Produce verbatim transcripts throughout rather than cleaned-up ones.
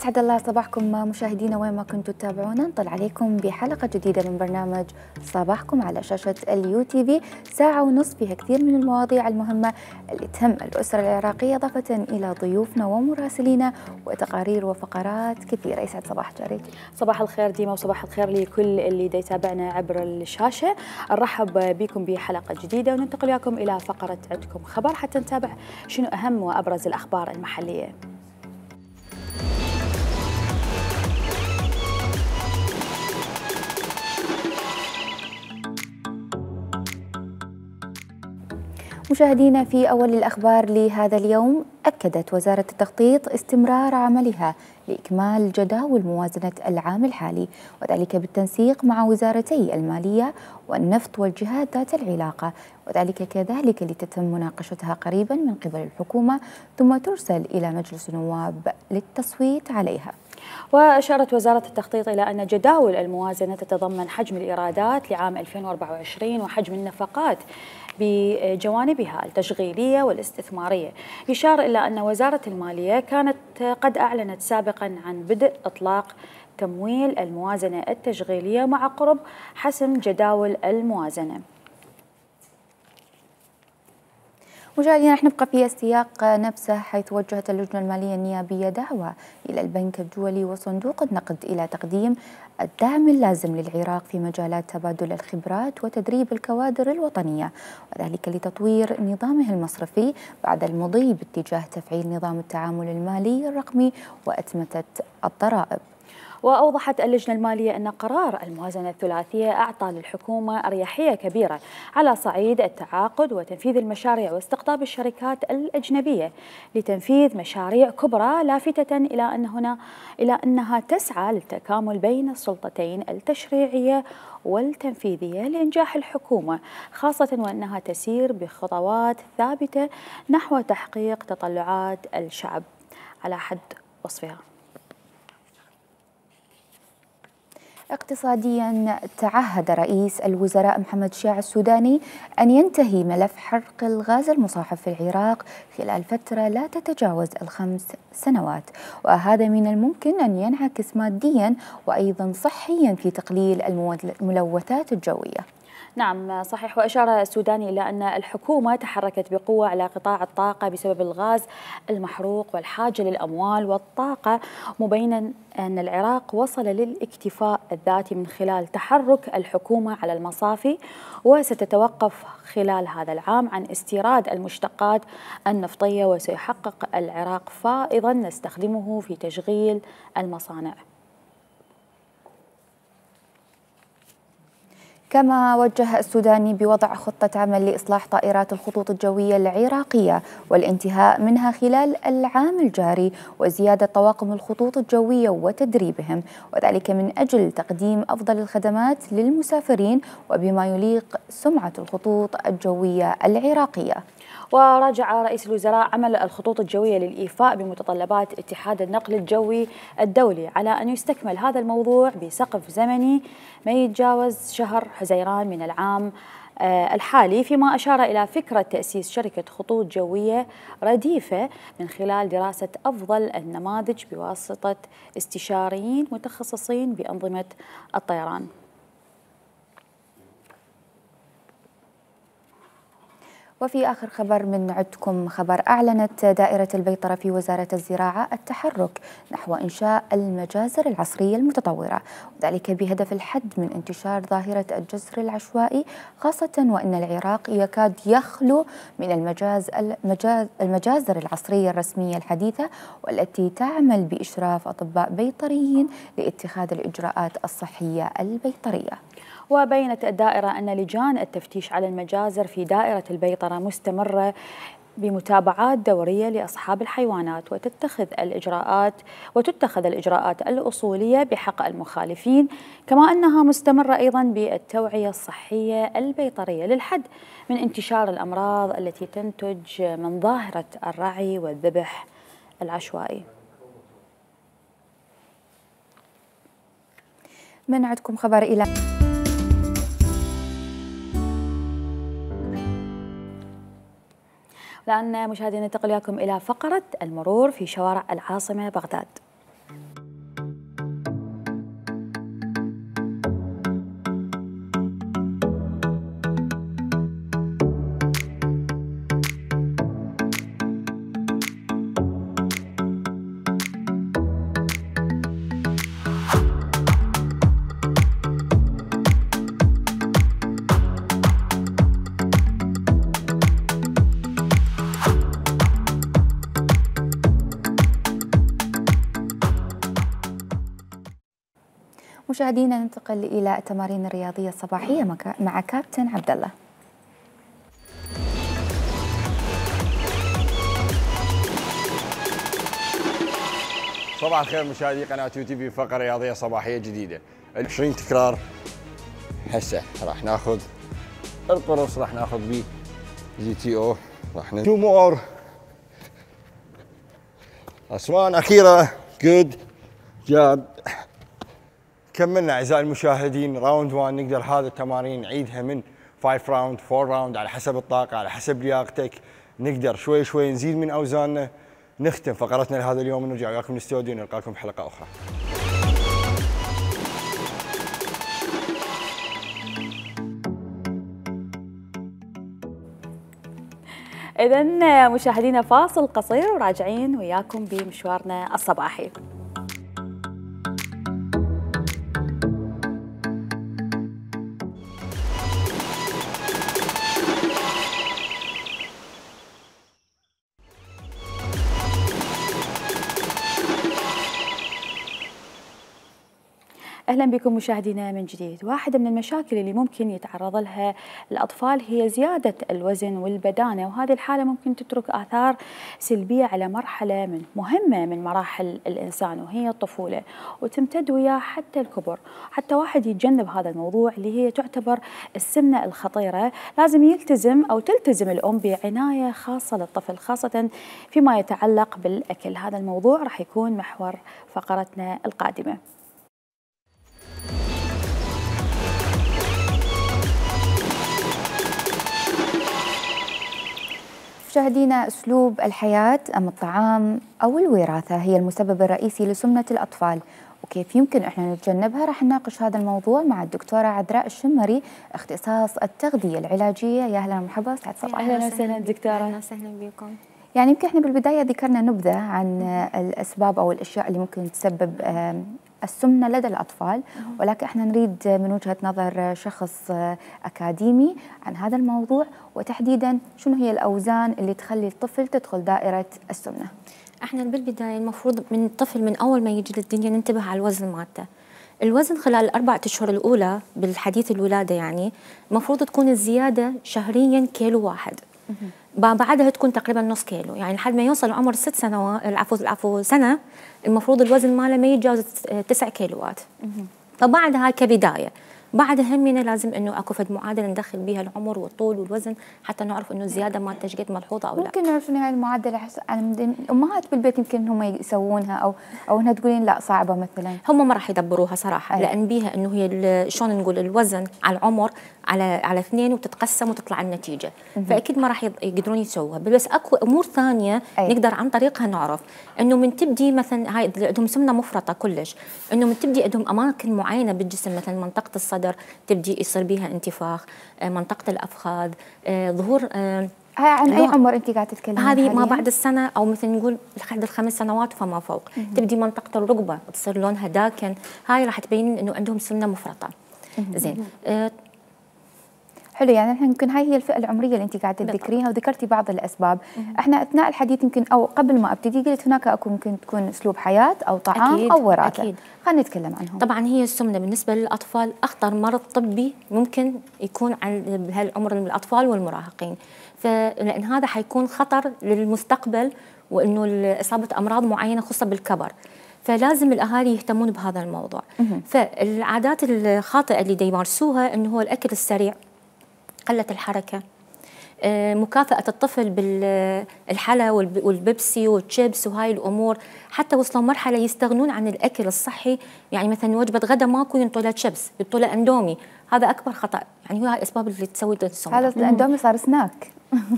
أسعد الله صباحكم مشاهدينا وين ما كنتوا تتابعونا. نطل عليكم بحلقة جديدة من برنامج صباحكم على شاشة اليو تي في، ساعة ونصف فيها كثير من المواضيع المهمة اللي تهم الأسرة العراقية، إضافة إلى ضيوفنا ومراسلينا وتقارير وفقرات كثيرة. يسعد صباح جاري. صباح الخير ديما وصباح الخير لكل اللي دا يتابعنا عبر الشاشة. نرحب بكم بحلقة جديدة وننتقل وياكم إلى فقرة عندكم خبر حتى نتابع شنو أهم وأبرز الأخبار المحلية. مشاهدينا، في أول الأخبار لهذا اليوم، أكدت وزارة التخطيط استمرار عملها لإكمال جداول موازنة العام الحالي، وذلك بالتنسيق مع وزارتي المالية والنفط والجهات ذات العلاقة، وذلك كذلك لتتم مناقشتها قريبا من قبل الحكومة ثم ترسل إلى مجلس النواب للتصويت عليها. وأشارت وزارة التخطيط إلى أن جداول الموازنة تتضمن حجم الإيرادات لعام ألفين وأربعة وعشرين وحجم النفقات بجوانبها التشغيلية والاستثمارية. يشار إلى أن وزارة المالية كانت قد أعلنت سابقا عن بدء إطلاق تمويل الموازنة التشغيلية مع قرب حسم جداول الموازنة. مشاهدينا، رح نبقى في السياق نفسه، حيث وجهت اللجنة المالية النيابية دعوة إلى البنك الدولي وصندوق النقد إلى تقديم الدعم اللازم للعراق في مجالات تبادل الخبرات وتدريب الكوادر الوطنية، وذلك لتطوير نظامه المصرفي بعد المضي باتجاه تفعيل نظام التعامل المالي الرقمي وأتمتة الضرائب. وأوضحت اللجنة المالية أن قرار الموازنة الثلاثية أعطى للحكومة أريحية كبيرة على صعيد التعاقد وتنفيذ المشاريع واستقطاب الشركات الأجنبية لتنفيذ مشاريع كبرى، لافتة إلى أن هنا إلى أنها تسعى للتكامل بين السلطتين التشريعية والتنفيذية لإنجاح الحكومة، خاصة وأنها تسير بخطوات ثابتة نحو تحقيق تطلعات الشعب على حد وصفها. اقتصاديا، تعهد رئيس الوزراء محمد شياع السوداني أن ينتهي ملف حرق الغاز المصاحب في العراق خلال فترة لا تتجاوز الخمس سنوات، وهذا من الممكن أن ينعكس ماديا وأيضا صحيا في تقليل الملوثات الجوية. نعم صحيح. وأشار السوداني إلى أن الحكومة تحركت بقوة على قطاع الطاقة بسبب الغاز المحروق والحاجة للأموال والطاقة، مبينا أن العراق وصل للاكتفاء الذاتي من خلال تحرك الحكومة على المصافي، وستتوقف خلال هذا العام عن استيراد المشتقات النفطية، وسيحقق العراق فائضا نستخدمه في تشغيل المصانع. كما وجه السوداني بوضع خطة عمل لإصلاح طائرات الخطوط الجوية العراقية والانتهاء منها خلال العام الجاري، وزيادة طواقم الخطوط الجوية وتدريبهم، وذلك من أجل تقديم أفضل الخدمات للمسافرين وبما يليق سمعة الخطوط الجوية العراقية. وراجع رئيس الوزراء عمل الخطوط الجوية للإيفاء بمتطلبات اتحاد النقل الجوي الدولي على أن يستكمل هذا الموضوع بسقف زمني ما يتجاوز شهر حزيران من العام الحالي، فيما أشار إلى فكرة تأسيس شركة خطوط جوية رديفة من خلال دراسة أفضل النماذج بواسطة استشاريين متخصصين بأنظمة الطيران. وفي آخر خبر من عندكم خبر، أعلنت دائرة البيطرة في وزارة الزراعة التحرك نحو إنشاء المجازر العصرية المتطورة، وذلك بهدف الحد من انتشار ظاهرة الجزر العشوائي، خاصة وأن العراق يكاد يخلو من المجاز المجاز المجازر العصرية الرسمية الحديثة، والتي تعمل بإشراف أطباء بيطريين لاتخاذ الإجراءات الصحية البيطرية. وبينت الدائرة أن لجان التفتيش على المجازر في دائرة البيطرة مستمرة بمتابعات دورية لأصحاب الحيوانات، وتتخذ الإجراءات وتتخذ الإجراءات الأصولية بحق المخالفين، كما أنها مستمرة أيضا بالتوعية الصحية البيطرية للحد من انتشار الأمراض التي تنتج من ظاهرة الرعي والذبح العشوائي. من عندكم خبر إلى الآن مشاهدينا ننتقل وياكم إلى فقرة المرور في شوارع العاصمة بغداد. مشاهدينا ننتقل إلى التمارين الرياضية الصباحية مع كابتن عبد الله. صباح الخير مشاهدي قناة يو تي في، فقرة رياضية صباحية جديدة. عشرين تكرار. هسه راح ناخذ القرص، راح ناخذ بيه جي تي او، راح تو مور اسوان اخيرة. جود جاب. كملنا اعزائي المشاهدين راوند واحد. نقدر هذه التمارين نعيدها من خمسة راوند أربعة راوند على حسب الطاقة، على حسب لياقتك. نقدر شوي شوي نزيد من اوزاننا. نختم فقرتنا لهذا اليوم ونرجع وياكم الاستوديو، نلقاكم بحلقة اخرى. إذن مشاهدينا فاصل قصير وراجعين وياكم بمشوارنا الصباحي. أهلا بكم مشاهدينا من جديد. واحدة من المشاكل اللي ممكن يتعرض لها الأطفال هي زيادة الوزن والبدانة، وهذه الحالة ممكن تترك آثار سلبية على مرحلة من مهمة من مراحل الإنسان وهي الطفولة، وتمتد وياه حتى الكبر. حتى واحد يتجنب هذا الموضوع اللي هي تعتبر السمنة الخطيرة، لازم يلتزم أو تلتزم الأم بعناية خاصة للطفل، خاصة فيما يتعلق بالأكل. هذا الموضوع راح يكون محور فقرتنا القادمة. مشاهدينا، أسلوب الحياة أم الطعام أو الوراثة هي المسبب الرئيسي لسمنة الأطفال، وكيف يمكن إحنا نتجنبها؟ راح نناقش هذا الموضوع مع الدكتورة عذراء الشمري، اختصاص التغذية العلاجية. يا أهلا ومرحبا، سعد صباح. أهلا وسهلا دكتورة. أهلا وسهلا بكم. يعني يمكن إحنا بالبداية ذكرنا نبذة عن الأسباب أو الأشياء اللي ممكن تسبب السمنة لدى الأطفال، ولكن احنا نريد من وجهة نظر شخص أكاديمي عن هذا الموضوع، وتحديدا شنو هي الأوزان اللي تخلي الطفل تدخل دائرة السمنة. احنا بالبداية المفروض من الطفل من أول ما يجي للدنيا ننتبه على الوزن مالته. الوزن خلال الأربع أشهر الأولى بالحديث الولادة يعني المفروض تكون الزيادة شهريا كيلو واحد، بعدها تكون تقريبا نص كيلو، يعني لحد ما يوصل عمر ست سنوات العفو العفو سنة المفروض الوزن ماله ما يتجاوز تسع كيلوات. فبعدها كبداية، بعدها همنا لازم انه اكو فد معادله ندخل بها العمر والطول والوزن حتى نعرف انه الزياده مالته ايش قد ملحوظه او لا. ممكن نعرف انه هاي المعادله الامهات بالبيت يمكن هم يسوونها او او انها تقولين لا صعبه مثلا. هم ما راح يدبروها صراحه، أي. لان بيها انه هي شلون نقول الوزن على العمر على على اثنين وتتقسم وتطلع النتيجه، مم. فاكيد ما راح يقدرون يسووها، بس اكو امور ثانيه أي. نقدر عن طريقها نعرف انه من تبدي مثلا هاي عندهم سمنه مفرطه كلش، انه من تبدي عندهم اماكن معينه بالجسم مثلا منطقه الصدر تبدي يصير بها انتفاخ، منطقه الافخاذ، ظهور. هاي عن اي عمر انت قاعده تتكلمين؟ هذه ما بعد السنه او مثل نقول لحد الخمس سنوات فما فوق، مم. تبدي منطقه الركبه تصير لونها داكن، هاي راح تبين انه عندهم سمنه مفرطه. زين. آه حلو، يعني احنا يمكن هاي هي الفئه العمريه اللي انت قاعده تذكريها وذكرتي بعض الاسباب. مم. احنا اثناء الحديث يمكن او قبل ما ابتدي قلت هناك اكو ممكن تكون اسلوب حياه او طعام أكيد او وراثه. أكيد. خلينا نتكلم عنهم. طبعا هي السمنه بالنسبه للاطفال اخطر مرض طبي ممكن يكون عند بهالعمر من الاطفال والمراهقين، فلان هذا حيكون خطر للمستقبل وانه اصابه امراض معينه خاصه بالكبر، فلازم الاهالي يهتمون بهذا الموضوع. مم. فالعادات الخاطئه اللي دا يمارسوها انه هو الاكل السريع، قله الحركه، مكافأة الطفل بالحلا والبيبسي والشيبس وهاي الأمور، حتى وصلوا مرحلة يستغنون عن الأكل الصحي، يعني مثلا وجبة غدا ماكو ينطوا له شيبس، ينطوا له أندومي، هذا أكبر خطأ، يعني هو هاي الأسباب اللي تسوي السمنة. هذا الأندومي صار سناك.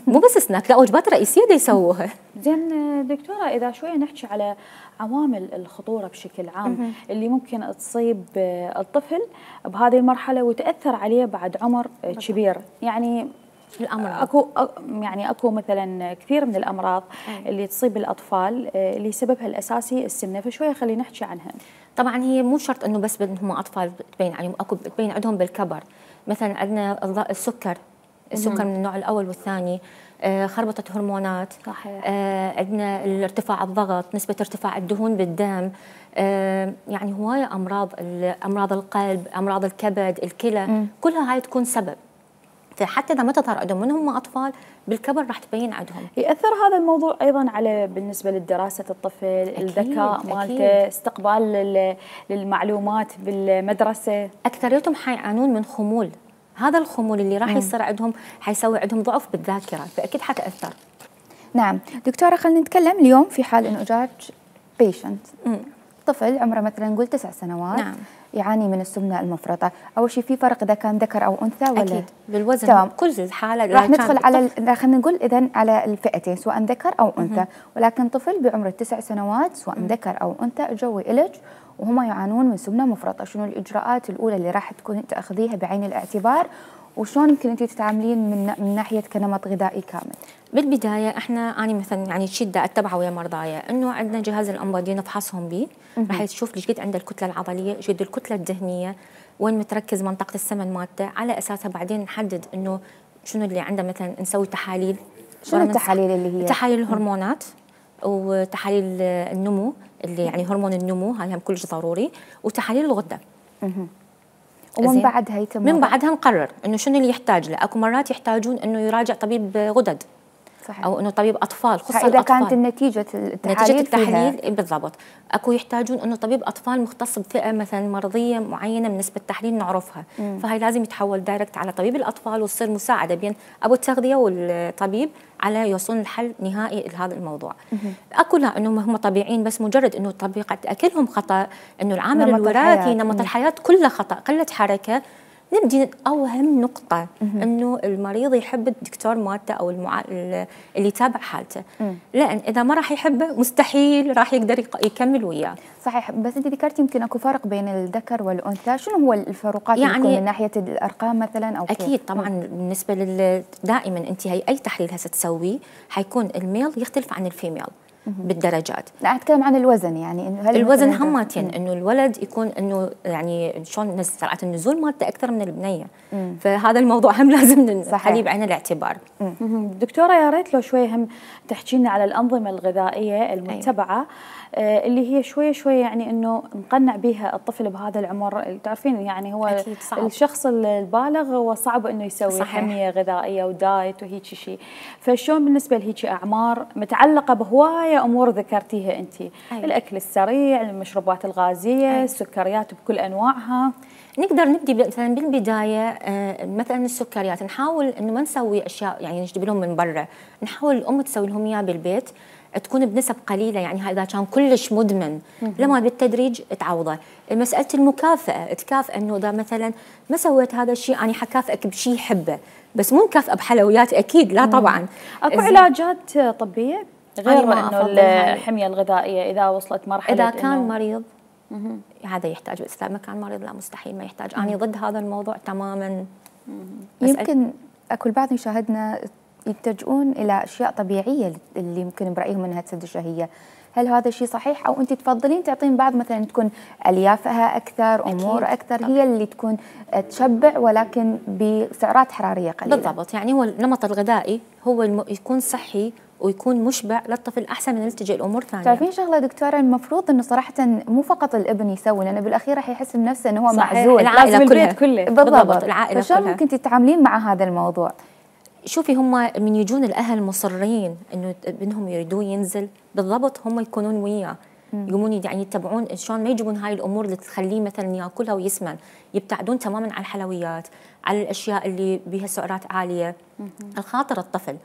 مو بس سناك، لا وجبات رئيسية دا يسووها. زين دكتورة، إذا شوية نحكي على عوامل الخطورة بشكل عام اللي ممكن تصيب الطفل بهذه المرحلة وتأثر عليه بعد عمر كبير، يعني الأمراض. اكو يعني اكو مثلا كثير من الامراض أي. اللي تصيب الاطفال اللي سببها الاساسي السمنه، فشويه خلينا نحكي عنها. طبعا هي مو شرط انه بس هم اطفال تبين عليهم، اكو تبين عندهم بالكبر، مثلا عندنا السكر، السكر من النوع الاول والثاني، آه خربطه هرمونات. صحيح. آه عندنا ارتفاع الضغط، نسبه ارتفاع الدهون بالدم، آه يعني هوايه امراض، امراض القلب، امراض الكبد، الكلى، م. كلها هاي تكون سبب. فحتى اذا ما تظهر عندهم من هم اطفال بالكبر راح تبين عندهم. ياثر هذا الموضوع ايضا على بالنسبه لدراسه الطفل، الذكاء مالته، استقبال للمعلومات بالمدرسه. اكثريتهم حيعانون من خمول، هذا الخمول اللي راح يصير عندهم حيسوي عندهم ضعف بالذاكره، فاكيد حتاثر. نعم دكتوره، خلينا نتكلم اليوم في حال انه جاك بيشنت طفل عمره مثلا نقول تسع سنوات. نعم. يعاني من السمنه المفرطه. اول شيء في فرق اذا كان ذكر او انثى ولا؟ اكيد بالوزن. تمام. كل الحاله راح ندخل على خلينا نقول اذا على الفئتين سواء ذكر او انثى. مم. ولكن طفل بعمر التسع سنوات سواء مم. ذكر او انثى اجوا الج وهم يعانون من سمنه مفرطه، شنو الاجراءات الاولى اللي راح تكون تاخذيها بعين الاعتبار، وشلون يمكن انت تتعاملين من من ناحيه كنمط غذائي كامل؟ بالبدايه احنا انا مثلا يعني الشيء اللي اتبعه ويا مرضايا انه عندنا جهاز الانبادي نفحصهم به، راح يشوف ليش قد عنده الكتله العضليه، ايش قد الكتله الدهنيه، وين متركز منطقه السمن مالته، على اساسها بعدين نحدد انه شنو اللي عنده. مثلا نسوي تحاليل. شنو التحاليل اللي هي؟ تحاليل الهرمونات وتحاليل النمو اللي يعني هرمون النمو، هاي هم كلش ضروري، وتحاليل الغده. ومن بعدها يتم من بعدها نقرر انه شنو اللي يحتاج له. اكو مرات يحتاجون انه يراجع طبيب غدد. صحيح. او انه طبيب اطفال، خصوصا اذا الاطفال كانت النتيجه التحاليل نتيجه التحليل بالضبط. اكو يحتاجون انه طبيب اطفال مختص بفئه مثلا مرضيه معينه من نسبه تحليل نعرفها. مم. فهي لازم يتحول دايركت على طبيب الاطفال وتصير مساعده بين ابو التغذيه والطبيب على يوصلون لحل نهائي لهذا الموضوع. مم. اكو لا انه هم طبيعيين، بس مجرد انه طبيعه اكلهم خطا، انه العامل نمط الوراثي، نمط الحياه كله خطا، قله حركه. نبدي أهم نقطة إنه المريض يحب الدكتور مالته أو المع... اللي يتابع حالته، مم. لأن إذا ما راح يحبه مستحيل راح يقدر يكمل وياه. صحيح. بس أنت ذكرتي يمكن أكو فرق بين الذكر والأنثى، شنو هو الفروقات يعني اللي من ناحية الأرقام مثلا أو أكيد كيف؟ طبعا. مم. بالنسبة لل دائما أنت هي أي تحليل هسه تسويه حيكون الميل يختلف عن الفيميل بالدرجات. لا أتكلم عن الوزن، يعني هل الوزن همتين انه الولد يكون انه يعني شلون سرعه النزول مالته اكثر من البنيه. مم. فهذا الموضوع هم لازم نخليه بعين الاعتبار. مم. دكتوره يا ريت لو شوي هم تحكي لنا على الانظمه الغذائيه المتبعه. أيوة. آه اللي هي شويه شويه يعني انه نقنع بها الطفل بهذا العمر. تعرفين يعني هو الشخص البالغ هو صعب انه يسوي صحيح. حميه غذائيه ودايت وهيك شيء. فشلون بالنسبه لهيك اعمار متعلقه بهوايه امور ذكرتيها انت؟ أيوة. الاكل السريع، المشروبات الغازيه، أيوة. السكريات بكل انواعها. نقدر نبدي مثلا بالبدايه آه مثلا السكريات نحاول انه ما نسوي اشياء يعني نجيب لهم من برا، نحاول الام تسوي لهم اياها بالبيت، تكون بنسب قليله. يعني اذا كان كلش مدمن لما بالتدريج تعوضه. مساله المكافاه، تكافئ انه اذا مثلا ما سويت هذا الشيء انا حكافئك بشيء يحبه، بس مو مكافئه بحلويات اكيد لا طبعا. اكو علاجات طبيه غير انه الحميه الغذائيه اذا وصلت مرحله اذا كان مريض مم. هذا يحتاج، بس اذا ما كان مريض لا مستحيل ما يحتاج. انا ضد هذا الموضوع تماما. يمكن اكو البعض يشاهدنا يتجهون الى اشياء طبيعيه اللي يمكن برايهم انها تسد الشهيه، هل هذا الشيء صحيح او انت تفضلين تعطين بعض مثلا تكون اليافها اكثر، امور اكثر طبعا. هي اللي تكون تشبع ولكن بسعرات حراريه قليله؟ بالضبط. يعني هو النمط الغذائي هو الم... يكون صحي ويكون مشبع للطفل احسن من نلتجئ الامور ثانيه. تعرفين شغله دكتوره، المفروض انه صراحه مو فقط الابن يسوي، لانه بالاخير راح يحس بنفسه انه هو معزول، العائله كلها كله. بالضبط, بالضبط. العائله كلها. فشلون ممكن تتعاملين مع هذا الموضوع؟ شوفي هم من يجون الاهل مصرين انه ابنهم يريدون ينزل بالضبط، هم يكونون وياه يقومون يعني يتبعون شلون ما يجيبون هاي الامور اللي تخليه مثلا ياكلها ويسمن، يبتعدون تماما عن الحلويات، على الاشياء اللي بها سعرات عاليه الخاطر الطفل.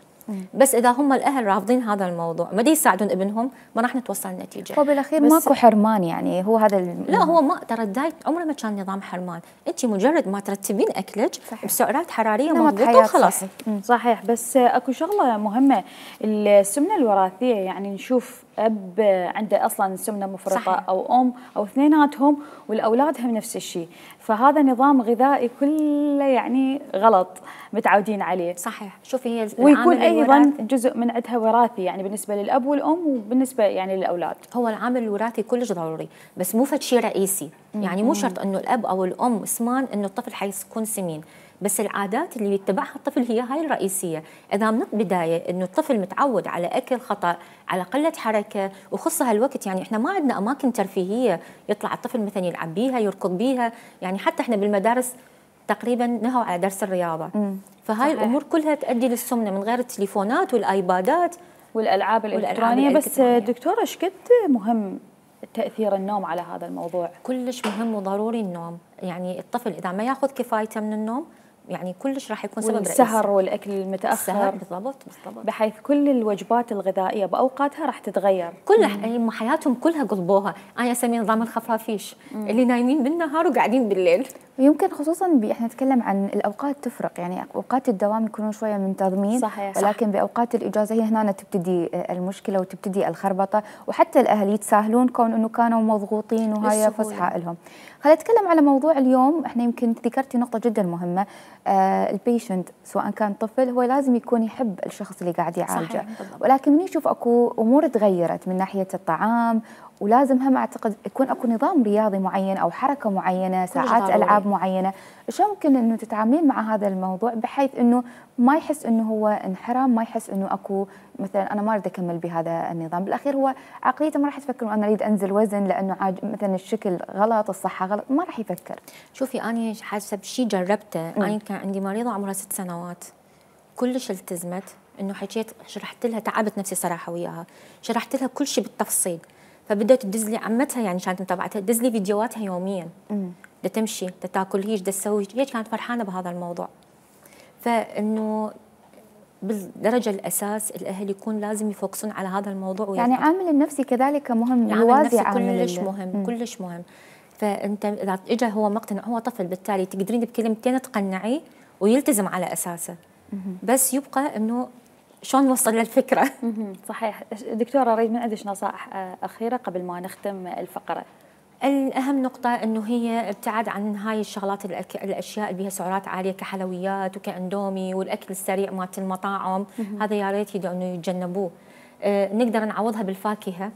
بس اذا هم الاهل رافضين هذا الموضوع ما دي يساعدون ابنهم ما راح نتوصل لنتيجه. هو بالاخير ماكو حرمان، يعني هو هذا الم... لا هو ما ترى الدايت عمره ما كان نظام حرمان، انت مجرد ما ترتبين اكلك بسعرات حراريه مضبوطه وخلاص. صحيح. صحيح. بس اكو شغله مهمه، السمنه الوراثيه، يعني نشوف اب عنده اصلا سمنه مفرطه صحيح. او ام او اثنيناتهم والاولادهم نفس الشيء، فهذا نظام غذائي كله يعني غلط متعودين عليه. صحيح. شوفي هي ويكون اي ايضا جزء من عندها وراثي يعني بالنسبه للاب والام وبالنسبه يعني للاولاد. هو العامل الوراثي كلش ضروري بس مو فد شيء رئيسي، يعني مو شرط انه الاب او الام سمان انه الطفل حيكون سمين، بس العادات اللي يتبعها الطفل هي هاي الرئيسيه. اذا من البدايه انه الطفل متعود على اكل خطا، على قله حركه، وخصها هالوقت يعني احنا ما عندنا اماكن ترفيهيه يطلع الطفل مثلا يلعب بيها يركض بيها، يعني حتى احنا بالمدارس تقريبا نهوا على درس الرياضه. مم. فهاي صحيح. الامور كلها تؤدي للسمنه من غير التليفونات والايبادات والالعاب الالكترونيه. بس دكتوره ايش قد مهم تاثير النوم على هذا الموضوع؟ كلش مهم وضروري النوم، يعني الطفل اذا ما ياخذ كفايته من النوم يعني كلش راح يكون سبب رئيسي. والسهر والاكل المتاخر. بالضبط بالضبط. بحيث كل الوجبات الغذائيه باوقاتها راح تتغير. كل مم. حياتهم كلها قلبوها، انا اسميه نظام الخفافيش، مم. اللي نايمين بالنهار وقاعدين بالليل. ويمكن خصوصا احنا نتكلم عن الاوقات تفرق، يعني اوقات الدوام يكونون شويه منتظمين صحيح. ولكن صح. باوقات الاجازه هي هنا تبتدي المشكله وتبتدي الخربطه، وحتى الاهل يتساهلون كون انه كانوا مضغوطين وهاي فسحه لهم. خلينا نتكلم على موضوع اليوم. احنا يمكن ذكرتي نقطه جدا مهمه، آه البيشنت سواء كان طفل هو لازم يكون يحب الشخص اللي قاعد يعالجه، ولكن من يشوف اكو امور تغيرت من ناحيه الطعام، ولازم هم اعتقد يكون اكو نظام رياضي معين او حركه معينه، ساعات العاب معينه، شو ممكن انه تتعاملين مع هذا الموضوع بحيث انه ما يحس انه هو انحرام، ما يحس انه اكو مثلا انا ما اريد اكمل بهذا النظام، بالاخير هو عقليته ما راح تفكر انا اريد انزل وزن لانه عاج مثلا الشكل غلط، الصحه غلط، ما راح يفكر. شوفي انا حسب شيء جربته، انا كان عندي مريضه عمرها ست سنوات كلش التزمت، انه حكيت شرحت لها، تعبت نفسي صراحه وياها، شرحت لها كل شيء بالتفصيل، فبدات تدز لي عمتها يعني كانت متابعتها تدز لي فيديوهاتها يوميا، دا تمشي دا تاكل هيك دا تسوي هي، كانت فرحانه بهذا الموضوع. فانه بالدرجه الاساس الاهل يكون لازم يفوكسون على هذا الموضوع، يعني عامل النفسي كذلك مهم، يوازي عامل كلش مهم. مم. كلش مهم. فانت اذا اجى هو مقتنع، هو طفل بالتالي تقدرين بكلمتين تقنعيه ويلتزم على اساسه، مم. بس يبقى انه شلون نوصل للفكره. صحيح. دكتوره اريد من عندك نصائح اخيره قبل ما نختم الفقره. الأهم نقطة إنه هي ابتعاد عن هاي الشغلات الأك... الأشياء اللي بها سعرات عالية كحلويات وكأندومي والأكل السريع مالت المطاعم، هذا يا ريت يدعوا إنه يتجنبوه. آه نقدر نعوضها بالفاكهة،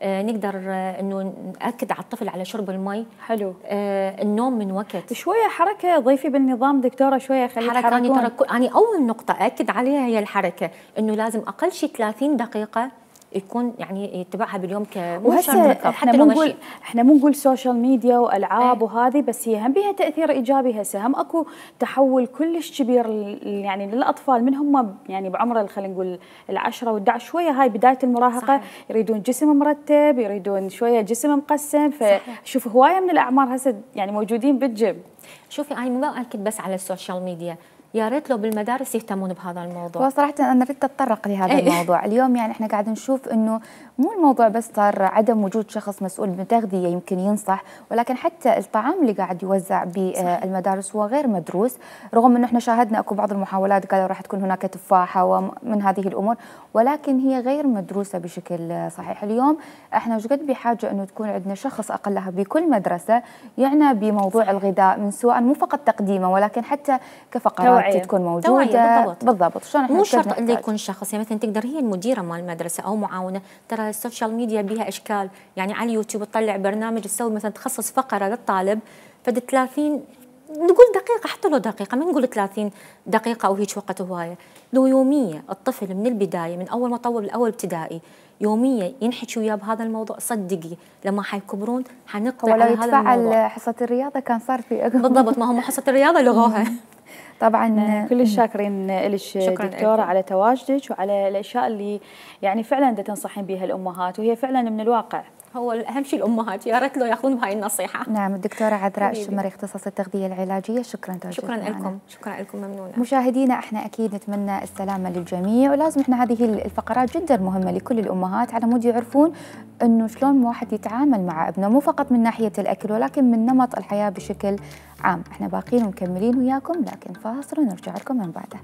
آه نقدر آه إنه نأكد على الطفل على شرب المي. حلو. آه النوم من وقت. شوية حركة ضيفي بالنظام دكتورة، شوية خليه حركة. أنا ترى أنا أول نقطة أأكد عليها هي الحركة، إنه لازم أقل شيء ثلاثين دقيقة يكون يعني يتبعها باليوم كمهشة. احنا مو نقول احنا مو نقول سوشيال ميديا والعاب ايه. وهذه بس هي هم بها تاثير ايجابي. هسه هم اكو تحول كلش كبير يعني للاطفال من هم يعني بعمر خلينا نقول العشرة والدعش، شويه هاي بدايه المراهقه. صحيح. يريدون جسم مرتب، يريدون شويه جسم مقسم. فشوف هوايه من الاعمار هسه يعني موجودين بالجيم. شوفي انا مو باكد بس على السوشيال ميديا، يا ريت لو بالمدارس يهتمون بهذا الموضوع. وصراحة أنا ردت أتطرق لهذا أيه. الموضوع اليوم. يعني إحنا قاعد نشوف إنه مو الموضوع بس صار عدم وجود شخص مسؤول بالتغذية يمكن ينصح، ولكن حتى الطعام اللي قاعد يوزع بالمدارس هو غير مدروس، رغم إنه إحنا شاهدنا أكو بعض المحاولات قالوا راح تكون هناك تفاحة ومن هذه الأمور، ولكن هي غير مدروسة بشكل صحيح. اليوم إحنا وجد بحاجة إنه تكون عندنا شخص أقلها بكل مدرسة يعنى بموضوع صحيح. الغذاء، من سواء مو فقط تقديمه ولكن حتى كفقرات توعية. تكون موجودة. بالضبط. بالضبط. شلون مو شرط انه يكون شخص، يعني مثلا تقدر هي المديره مال المدرسه او معاونه، ترى السوشيال ميديا بها اشكال، يعني على اليوتيوب تطلع برنامج تسوي مثلا تخصص فقره للطالب فد ثلاثين نقول دقيقه، حتى لو دقيقه ما نقول ثلاثين دقيقه او هيك وقت هوايه، لو يوميه الطفل من البدايه من اول ما طول الاول ابتدائي يوميا ينحكي وياه بهذا الموضوع، صدقي لما حيكبرون حنقطع على هذا الموضوع. ولو يتفعل حصه الرياضه كان صار في بالضبط، ما هم حصه الرياضه لغوها. طبعا كل الشاكرين لك دكتوره على تواجدك وعلى الاشياء اللي يعني فعلا دا تنصحين بها الامهات، وهي فعلا من الواقع. هو اهم شيء الامهات، يا ريت لو ياخذون بهاي النصيحه. نعم. الدكتوره عذراء الشمري اختصاص التغذيه العلاجيه، شكرا شكرا لكم. شكرا لكم، ممنونه. مشاهدينا احنا اكيد نتمنى السلامه للجميع، ولازم احنا هذه الفقرات جدا مهمه لكل الامهات على مود يعرفون انه شلون واحد يتعامل مع ابنه، مو فقط من ناحيه الاكل ولكن من نمط الحياه بشكل عام. احنا باقيين ومكملين وياكم، لكن فاصل ونرجع لكم من بعده.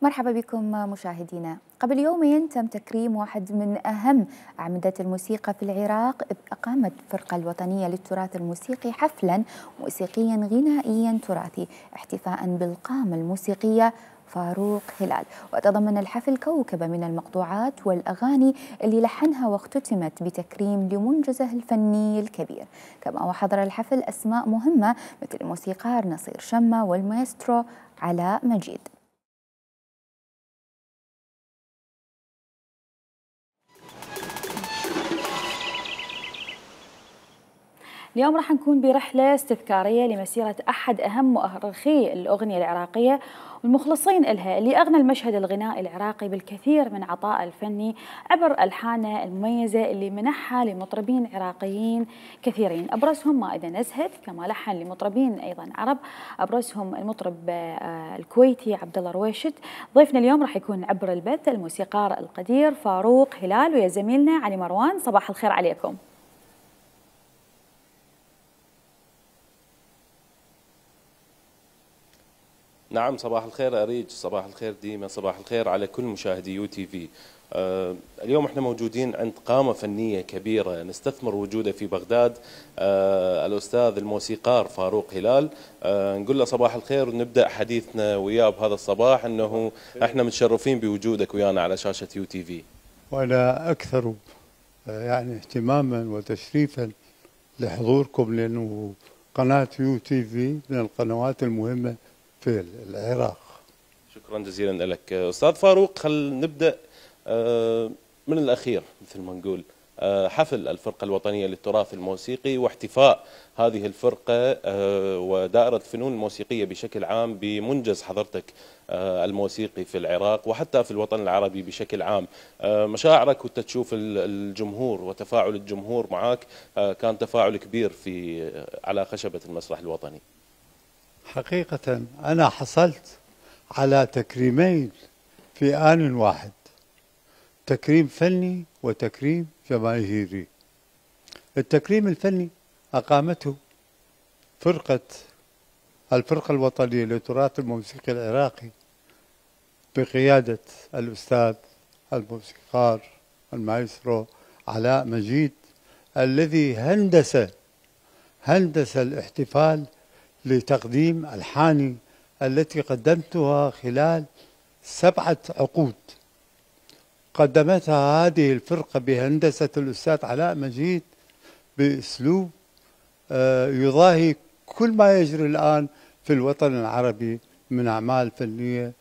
مرحبا بكم مشاهدينا. قبل يومين تم تكريم واحد من أهم أعمدة الموسيقى في العراق، إذ أقامت الفرقة الوطنية للتراث الموسيقي حفلا موسيقيا غنائيا تراثي احتفاء بالقامة الموسيقية فاروق هلال. وتضمن الحفل كوكبة من المقطوعات والأغاني اللي لحنها واختتمت بتكريم لمنجزه الفني الكبير. كما وحضر الحفل أسماء مهمة مثل الموسيقار نصير شمة والمايسترو علاء مجيد. اليوم راح نكون برحلة استذكارية لمسيرة أحد أهم مؤرخي الأغنية العراقية والمخلصين إلها، اللي أغنى المشهد الغنائي العراقي بالكثير من عطاء الفني عبر ألحانه المميزة اللي منحها لمطربين عراقيين كثيرين، أبرزهم مائدة نزهت، كما لحن لمطربين أيضا عرب، أبرزهم المطرب الكويتي عبد الله رويشد. ضيفنا اليوم راح يكون عبر البث الموسيقار القدير فاروق هلال، ويا زميلنا علي مروان. صباح الخير عليكم. نعم، صباح الخير أريج، صباح الخير ديما، صباح الخير على كل مشاهدي يو تي في. آه اليوم احنا موجودين عند قامة فنية كبيرة نستثمر وجوده في بغداد، آه الأستاذ الموسيقار فاروق هلال. آه نقول له صباح الخير ونبدأ حديثنا وياه بهذا الصباح، أنه احنا متشرفين بوجودك ويانا على شاشة يو تي في. وأنا أكثر يعني اهتماما وتشريفا لحضوركم، لأنه قناة يو تي في من القنوات المهمة في العراق. شكرا جزيلا لك أستاذ فاروق. خل نبدأ من الأخير مثل ما نقول، حفل الفرقة الوطنية للتراث الموسيقي واحتفاء هذه الفرقة ودائرة الفنون الموسيقية بشكل عام بمنجز حضرتك الموسيقي في العراق وحتى في الوطن العربي بشكل عام. مشاعرك وانت تشوف الجمهور وتفاعل الجمهور معك، كان تفاعل كبير في على خشبة المسرح الوطني. حقيقة أنا حصلت على تكريمين في آن واحد، تكريم فني وتكريم جماهيري. التكريم الفني أقامته فرقة الفرقة الوطنية للتراث الموسيقي العراقي بقيادة الأستاذ الموسيقار المايسترو علاء مجيد، الذي هندس هندس الاحتفال لتقديم ألحاني التي قدمتها خلال سبعة عقود. قدمتها هذه الفرقة بهندسة الأستاذ علاء مجيد بأسلوب يضاهي كل ما يجري الآن في الوطن العربي من أعمال فنية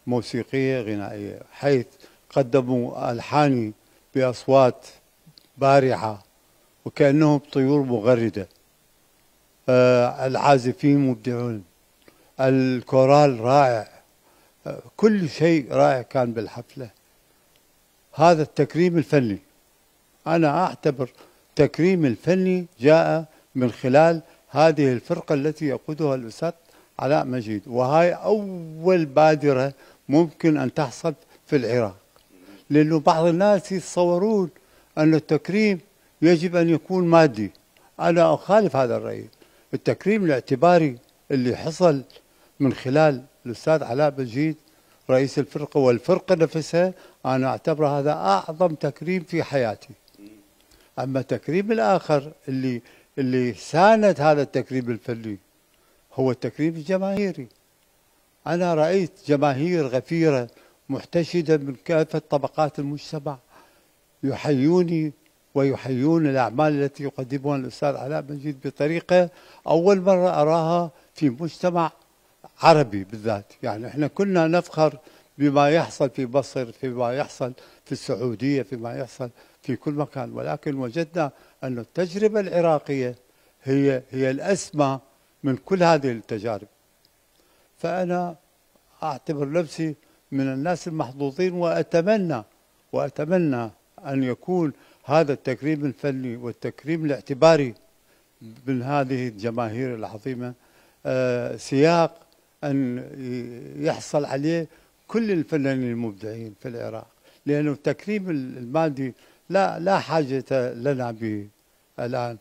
موسيقية غنائية، حيث قدموا ألحاني بأصوات بارعة وكأنهم طيور مغردة، آه العازفين مبدعون، الكورال رائع، آه كل شيء رائع كان بالحفلة. هذا التكريم الفني، أنا أعتبر تكريم الفني جاء من خلال هذه الفرقة التي يقودها الأستاذ علاء مجيد، وهي أول بادرة ممكن أن تحصل في العراق، لأنه بعض الناس يتصورون أن التكريم يجب أن يكون مادي. أنا أخالف هذا الرأي. التكريم الاعتباري اللي حصل من خلال الأستاذ علاء مجيد رئيس الفرقة والفرقة نفسها، أنا أعتبر هذا أعظم تكريم في حياتي. أما التكريم الآخر اللي اللي ساند هذا التكريم الفني هو التكريم الجماهيري. أنا رأيت جماهير غفيرة محتشدة من كافة طبقات المجتمع يحيوني ويحيون الأعمال التي يقدمها الأستاذ علاء مجيد بطريقة أول مرة أراها في مجتمع عربي بالذات. يعني احنا كنا نفخر بما يحصل في مصر، فيما يحصل في السعودية، فيما يحصل في كل مكان، ولكن وجدنا أن التجربة العراقية هي هي الأسمى من كل هذه التجارب. فأنا أعتبر نفسي من الناس المحظوظين، وأتمنى وأتمنى أن يكون هذا التكريم الفني والتكريم الاعتباري من هذه الجماهير العظيمة آه سياق أن يحصل عليه كل الفنانين المبدعين في العراق، لأنه التكريم المادي لا لا حاجة لنا به الآن.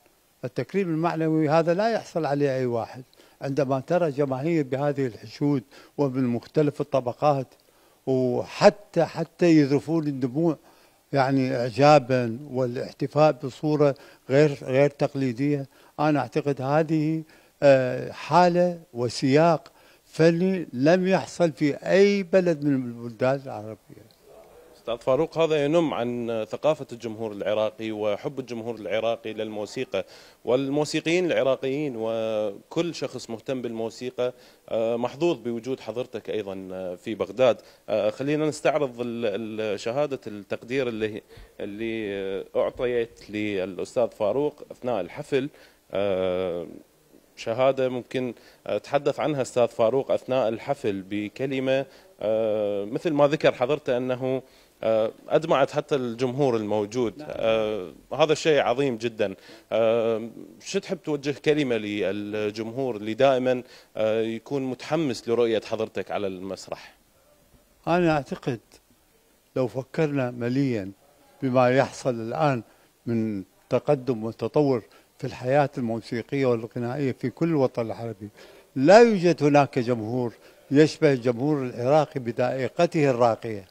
التكريم المعنوي هذا لا يحصل عليه أي واحد. عندما ترى جماهير بهذه الحشود ومن مختلف الطبقات وحتى حتى يذرفون الدموع يعني إعجابا والاحتفاء بصورة غير غير تقليدية. أنا أعتقد هذه حالة وسياق فني لم يحصل في أي بلد من البلدان العربية. أستاذ فاروق، هذا ينم عن ثقافة الجمهور العراقي وحب الجمهور العراقي للموسيقى، والموسيقيين العراقيين وكل شخص مهتم بالموسيقى محظوظ بوجود حضرتك أيضا في بغداد. خلينا نستعرض شهادة التقدير اللي اللي أعطيت للأستاذ فاروق أثناء الحفل. شهادة ممكن تحدث عنها أستاذ فاروق أثناء الحفل بكلمة مثل ما ذكر حضرته أنه أدمعت حتى الجمهور الموجود. آه هذا الشيء عظيم جدا. آه شو تحب توجه كلمة للجمهور اللي دائما آه يكون متحمس لرؤية حضرتك على المسرح؟ أنا أعتقد لو فكرنا مليا بما يحصل الآن من تقدم وتطور في الحياة الموسيقية والغنائية في كل الوطن العربي، لا يوجد هناك جمهور يشبه الجمهور العراقي بذائقته الراقية،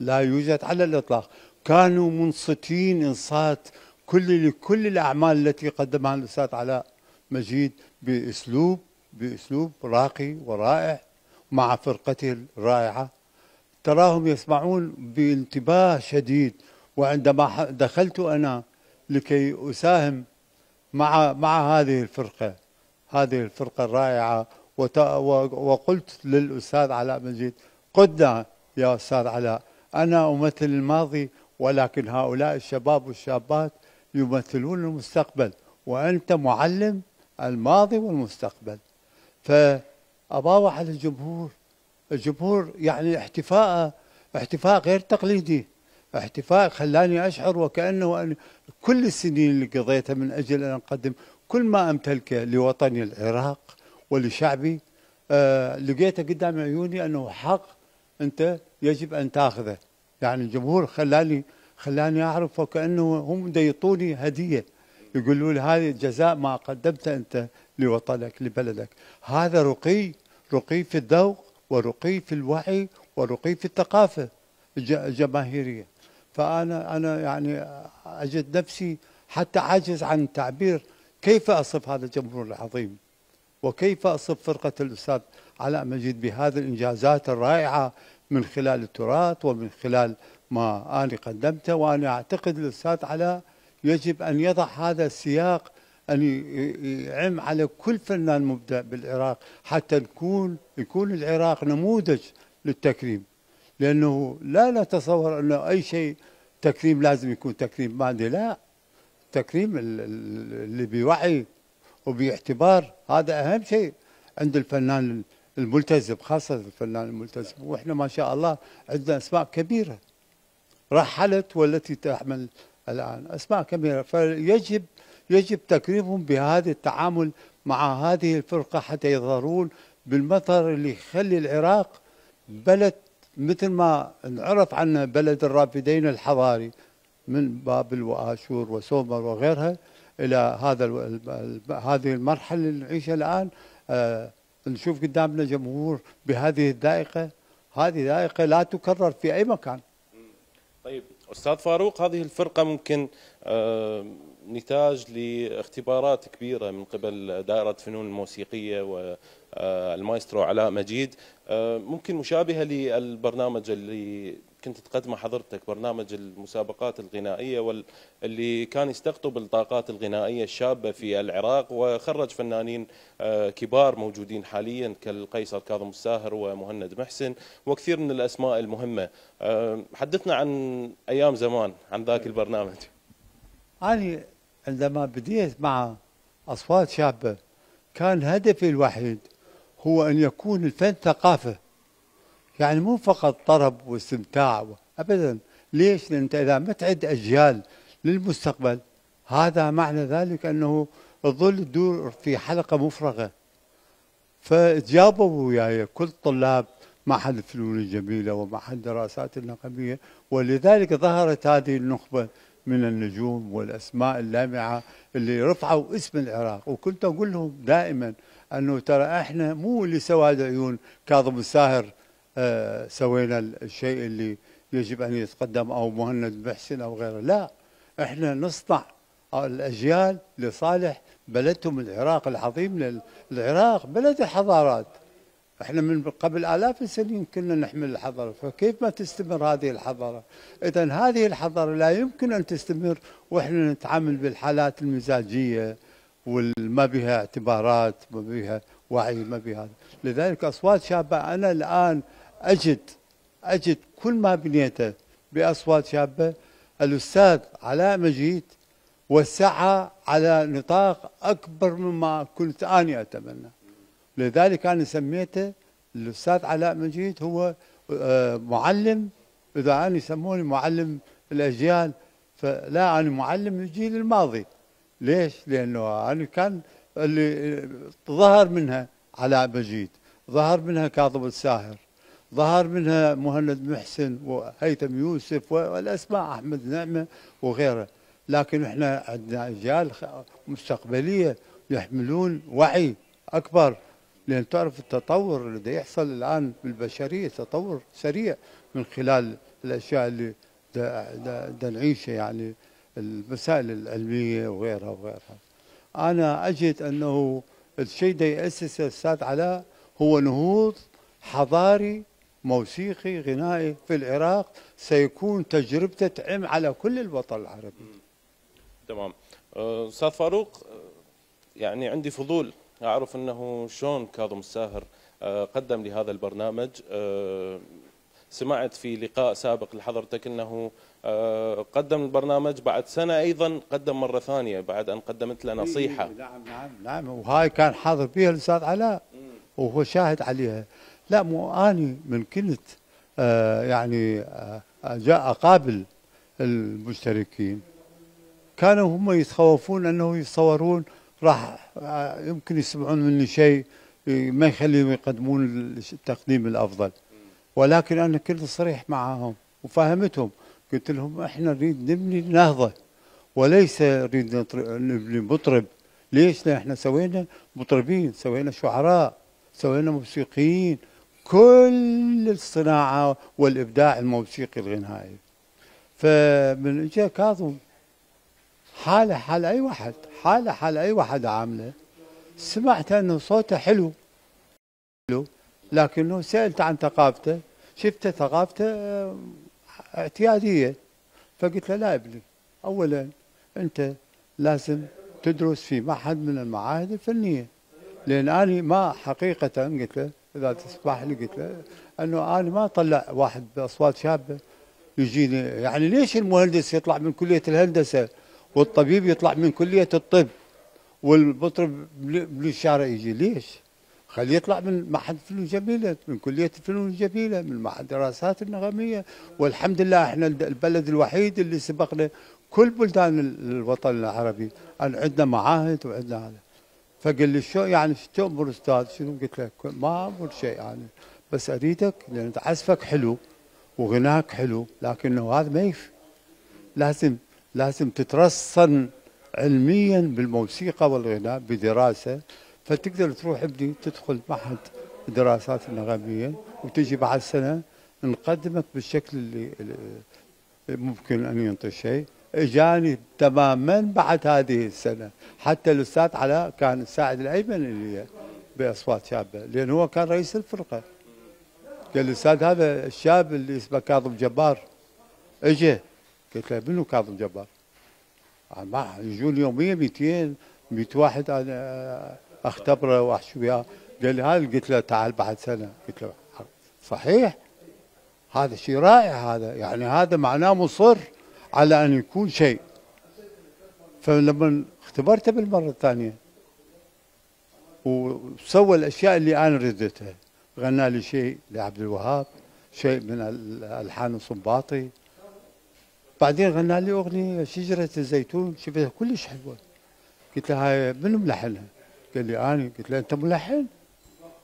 لا يوجد على الإطلاق. كانوا منصتين إنصات كل لكل الأعمال التي قدمها الأستاذ علاء مجيد بأسلوب بأسلوب راقي ورائع مع فرقته الرائعة. تراهم يسمعون بانتباه شديد. وعندما دخلت أنا لكي أساهم مع مع هذه الفرقة هذه الفرقة الرائعة وقلت للأستاذ علاء مجيد: قدنا يا أستاذ علاء، أنا أمثل الماضي ولكن هؤلاء الشباب والشابات يمثلون المستقبل، وأنت معلم الماضي والمستقبل. فأباوع على الجمهور الجمهور يعني احتفاء احتفاء غير تقليدي، احتفاء خلاني أشعر وكأنه أن كل السنين اللي قضيتها من أجل أن أقدم كل ما أمتلكه لوطني العراق ولشعبي، آه لقيته قدام عيوني أنه حق أنت يجب أن تأخذه. يعني الجمهور خلاني خلاني أعرف وكأنه هم يعطوني هدية، يقولوا لي هذه جزاء ما قدمته أنت لوطنك لبلدك. هذا رقي رقي في الذوق ورقي في الوعي ورقي في الثقافة الجماهيرية. فأنا أنا يعني أجد نفسي حتى عاجز عن التعبير كيف أصف هذا الجمهور العظيم، وكيف أصف فرقة الأستاذ علاء مجيد بهذه الإنجازات الرائعة من خلال التراث ومن خلال ما أنا قدمته. وأنا أعتقد الأستاذ علاء يجب أن يضع هذا السياق، أن يعم على كل فنان مبدع بالعراق حتى نكون يكون العراق نموذج للتكريم. لأنه لا نتصور أنه أي شيء تكريم لازم يكون تكريم مادي، لا، تكريم اللي بوعي وباعتبار، هذا أهم شيء عند الفنان الملتزم، خاصة الفنان الملتزم. وإحنا ما شاء الله عندنا أسماء كبيرة رحلت والتي تعمل الآن، أسماء كبيرة. فيجب يجب تكريمهم بهذا التعامل مع هذه الفرقة حتى يظهرون بالمظهر اللي يخلي العراق بلد مثل ما نعرف عنه بلد الرافدين الحضاري من بابل وآشور وسومر وغيرها إلى هذا هذه المرحلة اللي نعيشها الآن. آه نشوف قدامنا جمهور بهذه الذائقة، هذه ذائقة لا تكرر في أي مكان. طيب أستاذ فاروق، هذه الفرقة ممكن آه نتاج لاختبارات كبيرة من قبل دائرة فنون الموسيقية والمايسترو علاء مجيد، آه ممكن مشابهة للبرنامج اللي كنت تقدمه حضرتك، برنامج المسابقات الغنائية واللي كان يستقطب الطاقات الغنائية الشابة في العراق وخرج فنانين كبار موجودين حاليا كالقيصر كاظم الساهر ومهند محسن وكثير من الأسماء المهمة. حدثنا عن أيام زمان، عن ذاك البرنامج. أنا عندما بديت مع أصوات شابة كان هدفي الوحيد هو أن يكون الفن ثقافة، يعني مو فقط طرب واستمتاع أبدا. ليش؟ لأن أنت إذا ما تعد أجيال للمستقبل هذا معنى ذلك أنه تظل تدور في حلقة مفرغة. فجابوا وياي كل طلاب معهد الفنون الجميلة ومعهد الدراسات النقبية، ولذلك ظهرت هذه النخبة من النجوم والأسماء اللامعة اللي رفعوا اسم العراق. وكنت أقول لهم دائما أنه ترى إحنا مو لسواد عيون كاظم الساهر آه سوينا الشيء اللي يجب ان يتقدم او مهند محسن او غيره، لا احنا نصنع الاجيال لصالح بلدهم العراق العظيم. العراق بلد الحضارات، احنا من قبل آلاف السنين كنا نحمل الحضارة، فكيف ما تستمر هذه الحضارة؟ إذا هذه الحضارة لا يمكن أن تستمر وإحنا نتعامل بالحالات المزاجية والما بها اعتبارات، ما بها وعي، ما بها هذا. لذلك أصوات شابة أنا الآن أجد أجد كل ما بنيته بأصوات شابة. الأستاذ علاء مجيد وسعها على نطاق أكبر مما كنت أنا أتمنى. لذلك أنا سميته الأستاذ علاء مجيد هو معلم، إذا أنا يسموني معلم الأجيال فلا، أنا معلم الجيل الماضي. ليش؟ لأنه أنا كان اللي ظهر منها علاء مجيد، ظهر منها كاظم الساهر، ظهر منها مهند محسن وهيثم يوسف والأسماء أحمد نعمة وغيره. لكن احنا عندنا أجيال مستقبلية يحملون وعي أكبر، لأن تعرف التطور اللي يحصل الآن بالبشرية تطور سريع من خلال الأشياء اللي دا دا دا نعيشها، يعني المسائل العلمية وغيرها وغيرها. أنا أجد أنه الشيء ده يأسسه الأستاذ علاء هو نهوض حضاري موسيقي غنائي في العراق سيكون تجربته تعم على كل الوطن العربي. تمام. أستاذ فاروق، يعني عندي فضول أعرف أنه شلون كاظم الساهر قدم لهذا البرنامج. سمعت في لقاء سابق لحضرتك أنه قدم البرنامج بعد سنة أيضا قدم مرة ثانية بعد أن قدمت له نصيحة. نعم نعم نعم، وهاي كان حاضر فيها الأستاذ علاء وهو شاهد عليها. لا مو أني من كنت آه يعني آه جاء أقابل المشتركين كانوا هم يتخوفون أنه يتصورون راح آه يمكن يسمعون مني شيء ما يخليهم يقدمون التقديم الأفضل، ولكن أنا كنت صريح معهم وفهمتهم، قلت لهم احنا نريد نبني نهضة وليس نريد نبني مطرب. ليش؟ لأن احنا سوينا مطربين، سوينا شعراء، سوينا موسيقيين، كل الصناعة والإبداع الموسيقي الغنائي. فمن اجى كاظم حالة حال أي واحد، حالة حال أي واحد عامله، سمعت أنه صوته حلو حلو، لكنه سألت عن ثقافته، شفت ثقافته اعتيادية، فقلت له لا ابني، أولا أنت لازم تدرس في معهد من المعاهد الفنية، لأن أنا ما حقيقة قلت له إذا تسمح لي قلت له أنه أنا ما أطلع واحد بأصوات شابة يجيني، يعني ليش المهندس يطلع من كلية الهندسة والطبيب يطلع من كلية الطب والمطرب من الشارع يجي؟ ليش؟ خليه يطلع من معهد الفنون الجميلة، من كلية الفنون الجميلة، من معهد الدراسات النغمية. والحمد لله احنا البلد الوحيد اللي سبقنا كل بلدان الوطن العربي، أن عندنا معاهد وعندنا هذا. فقال لي شو يعني شو تأمر أستاذ؟ شنو؟ قلت له ما أمر شيء يعني، بس أريدك لأن عزفك حلو وغناك حلو، لكنه هذا ما يكفي، لازم لازم تترسن علميا بالموسيقى والغناء بدراسة، فتقدر تروح ابني تدخل معهد الدراسات النغمية وتجي بعد سنة نقدمك بالشكل اللي, اللي ممكن أن ينطي شيء. اجاني تماما بعد هذه السنة، حتى الأستاذ علاء كان الساعد الأيمن اللي بأصوات شابة، لأن هو كان رئيس الفرقة. قال الأستاذ هذا الشاب اللي اسمه كاظم جبار اجى، قلت له منو كاظم جبار؟ ما يجون يوميا مئتين مئة واحد أنا اختبره واحشي وياه. قال لي هذا، قلت له تعال بعد سنة. قلت له صحيح هذا شيء رائع، هذا يعني هذا معناه مصر على أن يكون شيء. فلما اختبرته بالمرة الثانية وسوى الأشياء اللي أنا ردتها، غنى لي شيء لعبد الوهاب، شيء من الألحان الصنباطي، بعدين غنى لي أغنية شجرة الزيتون شفتها كلش حلوة. قلت له هاي منو ملحنها؟ قال لي أنا. قلت له أنت ملحن؟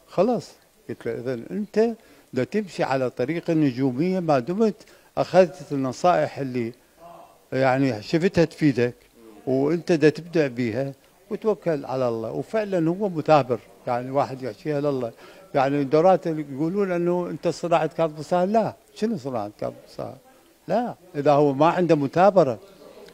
خلاص. قلت له إذا أنت بدك تمشي على طريق النجومية ما دمت أخذت النصائح اللي يعني شفتها تفيدك وأنت دا تبدع بيها وتوكل على الله. وفعلا هو مثابر يعني واحد يحكيها لله. يعني الدورات اللي يقولون انه انت صناعه كاظم الساهر، لا، شنو صناعه كاظم الساهر؟ لا، اذا هو ما عنده مثابره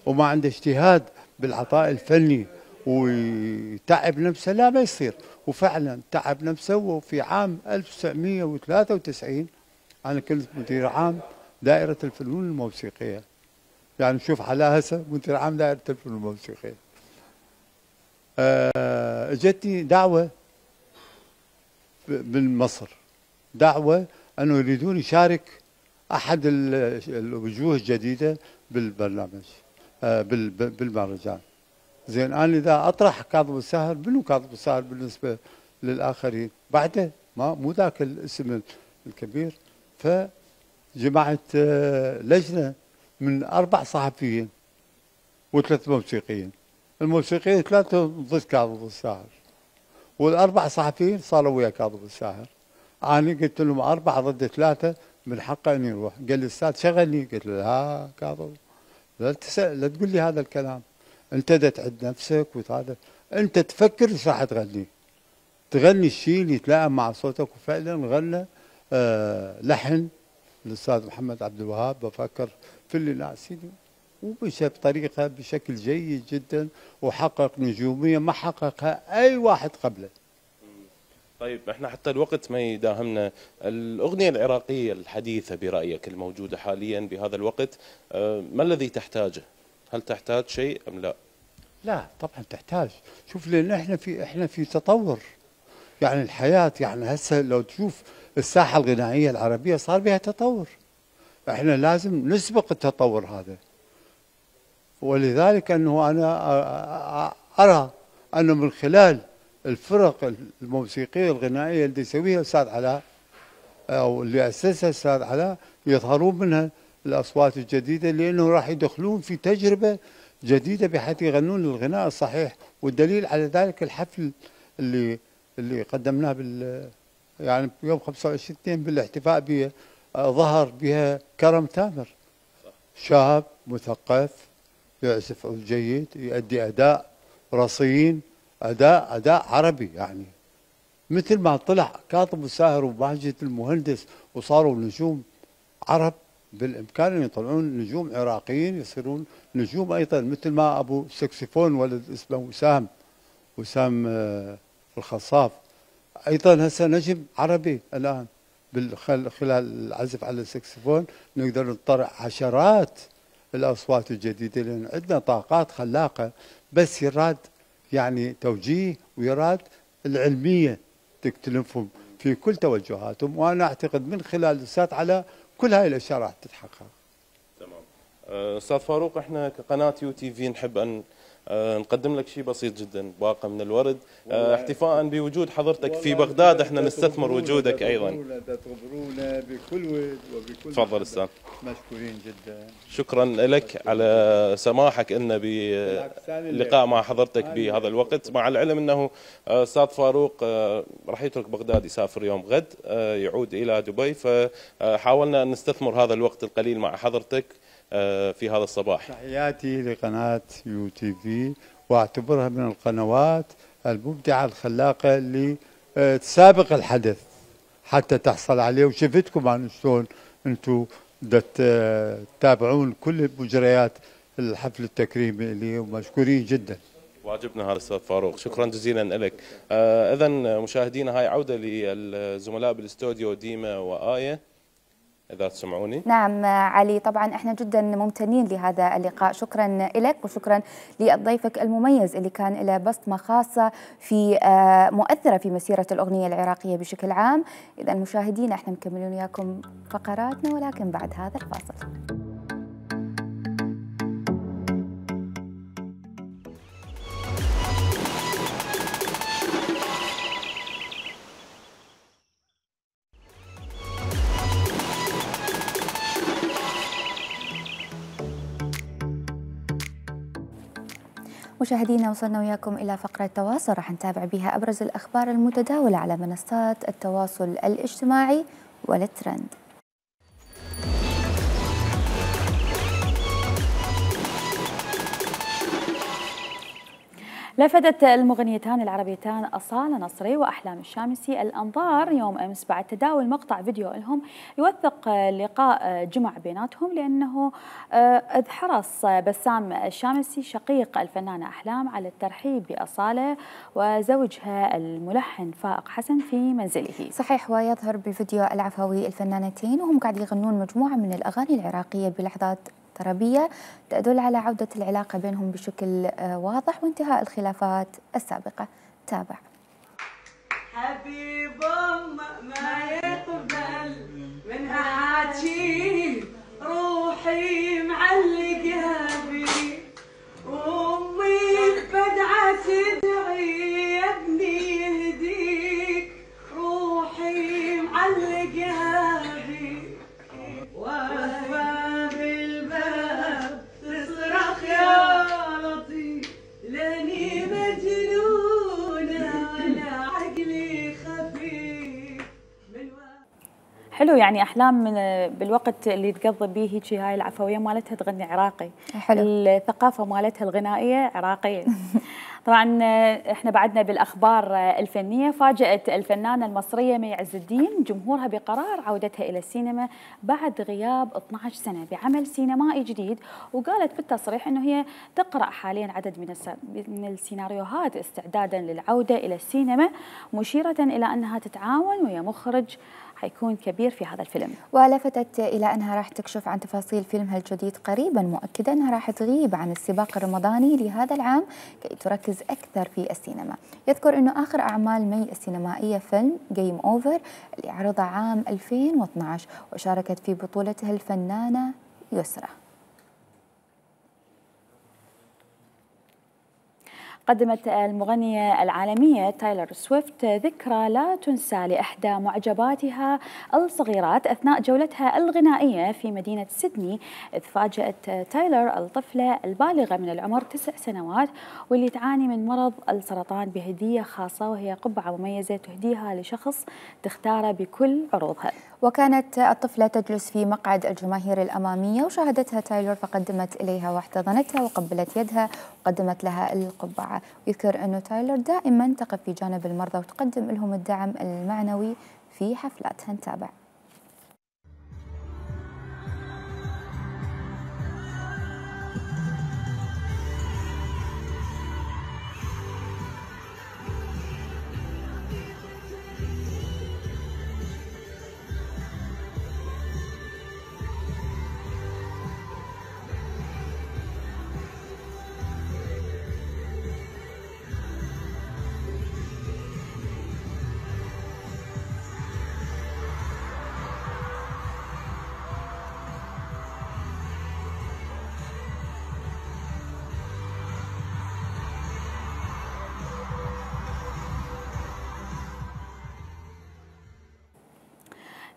وما عنده اجتهاد بالعطاء الفني ويتعب نفسه، لا ما يصير. وفعلا تعب نفسه. وفي عام ألف وتسعمئة وثلاثة وتسعين انا كنت مدير عام دائره الفنون الموسيقيه. يعني شوف على هسه مدير عام دائره الفنون الموسيقيه. أه اجتني دعوه من مصر، دعوه انه يريدون يشارك احد الوجوه الجديده بالبرنامج، أه بالمهرجان. زين انا اذا اطرح كاظم الساهر، منو كاظم الساهر بالنسبه للاخرين؟ بعده ما مو ذاك الاسم الكبير. فجمعت لجنه من اربع صحفيين وثلاث موسيقيين. الموسيقيين ثلاثه ضد كاظم الساهر، والاربع صحفيين صاروا ويا كاظم الساهر. انا قلت لهم اربعه ضد ثلاثه من حقه اني يروح. قال لي استاذ شغلني. قلت له ها كاظم، لا تسأل، لا تقول لي هذا الكلام. انت دا تعد نفسك وهذا، انت تفكر ايش راح تغني. تغني الشيء اللي يتلائم مع صوتك. وفعلا غنى آه لحن الاستاذ محمد عبد الوهاب، بفكر في اللي ناسيني، ومشى بطريقه بشكل جيد جدا، وحقق نجوميه ما حققها اي واحد قبله. طيب احنا حتى الوقت ما يداهمنا، الاغنيه العراقيه الحديثه برايك الموجوده حاليا بهذا الوقت آه ما الذي تحتاجه؟ هل تحتاج شيء ام لا؟ لا طبعا تحتاج. شوف لان احنا في احنا في تطور. يعني الحياه، يعني هسه لو تشوف الساحه الغنائيه العربيه صار بها تطور. احنا لازم نسبق التطور هذا. ولذلك انه انا ارى انه من خلال الفرق الموسيقيه الغنائيه اللي يسويها الاستاذ علاء، او اللي اسسها الاستاذ علاء، يظهرون منها الاصوات الجديده، لانه راح يدخلون في تجربه جديده بحيث يغنون الغناء الصحيح. والدليل على ذلك الحفل اللي اللي قدمناه بال يعني يوم خمسة وعشرين اثنين بالاحتفاء بها، ظهر بها كرم تامر، شاب مثقف يعزف عود جيد، يؤدي اداء رصين، اداء اداء عربي. يعني مثل ما طلع كاظم الساهر وماجد المهندس وصاروا نجوم عرب، بالامكان ان يطلعون نجوم عراقيين يصيرون نجوم ايضا، مثل ما ابو سكسفون ولد اسمه وسام وسام الخصاف ايضا هسه نجم عربي الان خلال العزف على السكسفون. نقدر نطلع عشرات الاصوات الجديده، لان عندنا طاقات خلاقه، بس يراد يعني توجيه، ويراد العلميه تكتلفهم في كل توجهاتهم. وانا اعتقد من خلال الاستاذ علاء كل هاي الاشياء راح تتحقق. تمام. استاذ فاروق، احنا كقناه يو تي في نحب ان نقدم لك شيء بسيط جدا، باقه من الورد، احتفاء بوجود حضرتك في بغداد. احنا نستثمر وجودك ايضا. تخبرونا بكل ود وبكل. تفضل استاذ. مشكورين جدا. شكرا لك على سماحك لنا باللقاء مع حضرتك بهذا الوقت، مع العلم انه استاذ فاروق راح يترك بغداد، يسافر يوم غد، يعود الى دبي، فحاولنا ان نستثمر هذا الوقت القليل مع حضرتك في هذا الصباح. تحياتي لقناة يو تي في، واعتبرها من القنوات المبدعة الخلاقة اللي تسابق الحدث حتى تحصل عليه. وشفتكم عن شلون انتم تتابعون كل مجريات الحفل التكريمي اللي ومشكورين جدا. واجبنا هذا استاذ فاروق، شكرا جزيلا لك. اذا مشاهدينا هاي عودة للزملاء بالاستوديو ديما وآية، إذا تسمعوني. نعم علي، طبعا احنا جدا ممتنين لهذا اللقاء. شكرا لك وشكرا لضيفك المميز اللي كان له بصمة خاصة في مؤثرة في مسيرة الأغنية العراقية بشكل عام. إذا مشاهدينا احنا مكملين وياكم فقراتنا، ولكن بعد هذا الفاصل. مشاهدينا، وصلنا وياكم إلى فقرة تواصل راح نتابع بها أبرز الأخبار المتداولة على منصات التواصل الاجتماعي والترند. لفتت المغنيتان العربيتان أصالة نصري وأحلام الشامسي الأنظار يوم أمس بعد تداول مقطع فيديو لهم يوثق لقاء جمع بيناتهم، لأنه إذ حرص بسام الشامسي شقيق الفنانة أحلام على الترحيب بأصالة وزوجها الملحن فائق حسن في منزله. صحيح، ويظهر بالفيديو العفوي الفنانتين وهم قاعد يغنون مجموعة من الأغاني العراقية بلحظات طربية تدل على عودة العلاقة بينهم بشكل واضح وانتهاء الخلافات السابقة. تابع. حبيب أمه ما يقبل منها حاجي، روحي معلقها بي، وأمي بدعة تدعي يا ابني يهديك، روحي معلقها بي، واقفة بالباب تصرخ يا لطيف، لاني مجنونة ولا عقلي خفيف. حلو، يعني أحلام من بالوقت اللي تقضي به هيك هاي العفوية مالتها تغني عراقي. حلو. الثقافة مالتها الغنائية عراقية. طبعا احنا بعدنا بالاخبار الفنيه. فاجأت الفنانه المصريه مي عز الدين جمهورها بقرار عودتها الى السينما بعد غياب اثنعش سنه بعمل سينمائي جديد، وقالت بالتصريح انه هي تقرا حاليا عدد من من السيناريوهات استعدادا للعوده الى السينما، مشيره الى انها تتعاون ويا مخرج حيكون كبير في هذا الفيلم. ولفتت إلى أنها راح تكشف عن تفاصيل فيلمها الجديد قريبا، مؤكدة أنها راح تغيب عن السباق الرمضاني لهذا العام كي تركز أكثر في السينما. يذكر أنه آخر أعمال مي السينمائية فيلم جيم أوفر اللي عرض عام ألفين واثنعش، وشاركت في بطولته الفنانة يسرى. قدمت المغنية العالمية تايلر سويفت ذكرى لا تنسى لإحدى معجباتها الصغيرات أثناء جولتها الغنائية في مدينة سيدني، إذ فاجأت تايلر الطفلة البالغة من العمر تسع سنوات واللي تعاني من مرض السرطان بهدية خاصة، وهي قبعة مميزة تهديها لشخص تختاره بكل عروضها. وكانت الطفلة تجلس في مقعد الجماهير الأمامية وشاهدتها تايلور، فقدمت إليها واحتضنتها وقبلت يدها وقدمت لها القبعة. ويذكر أنه تايلور دائما تقف في جانب المرضى وتقدم لهم الدعم المعنوي في حفلاتها. نتابع.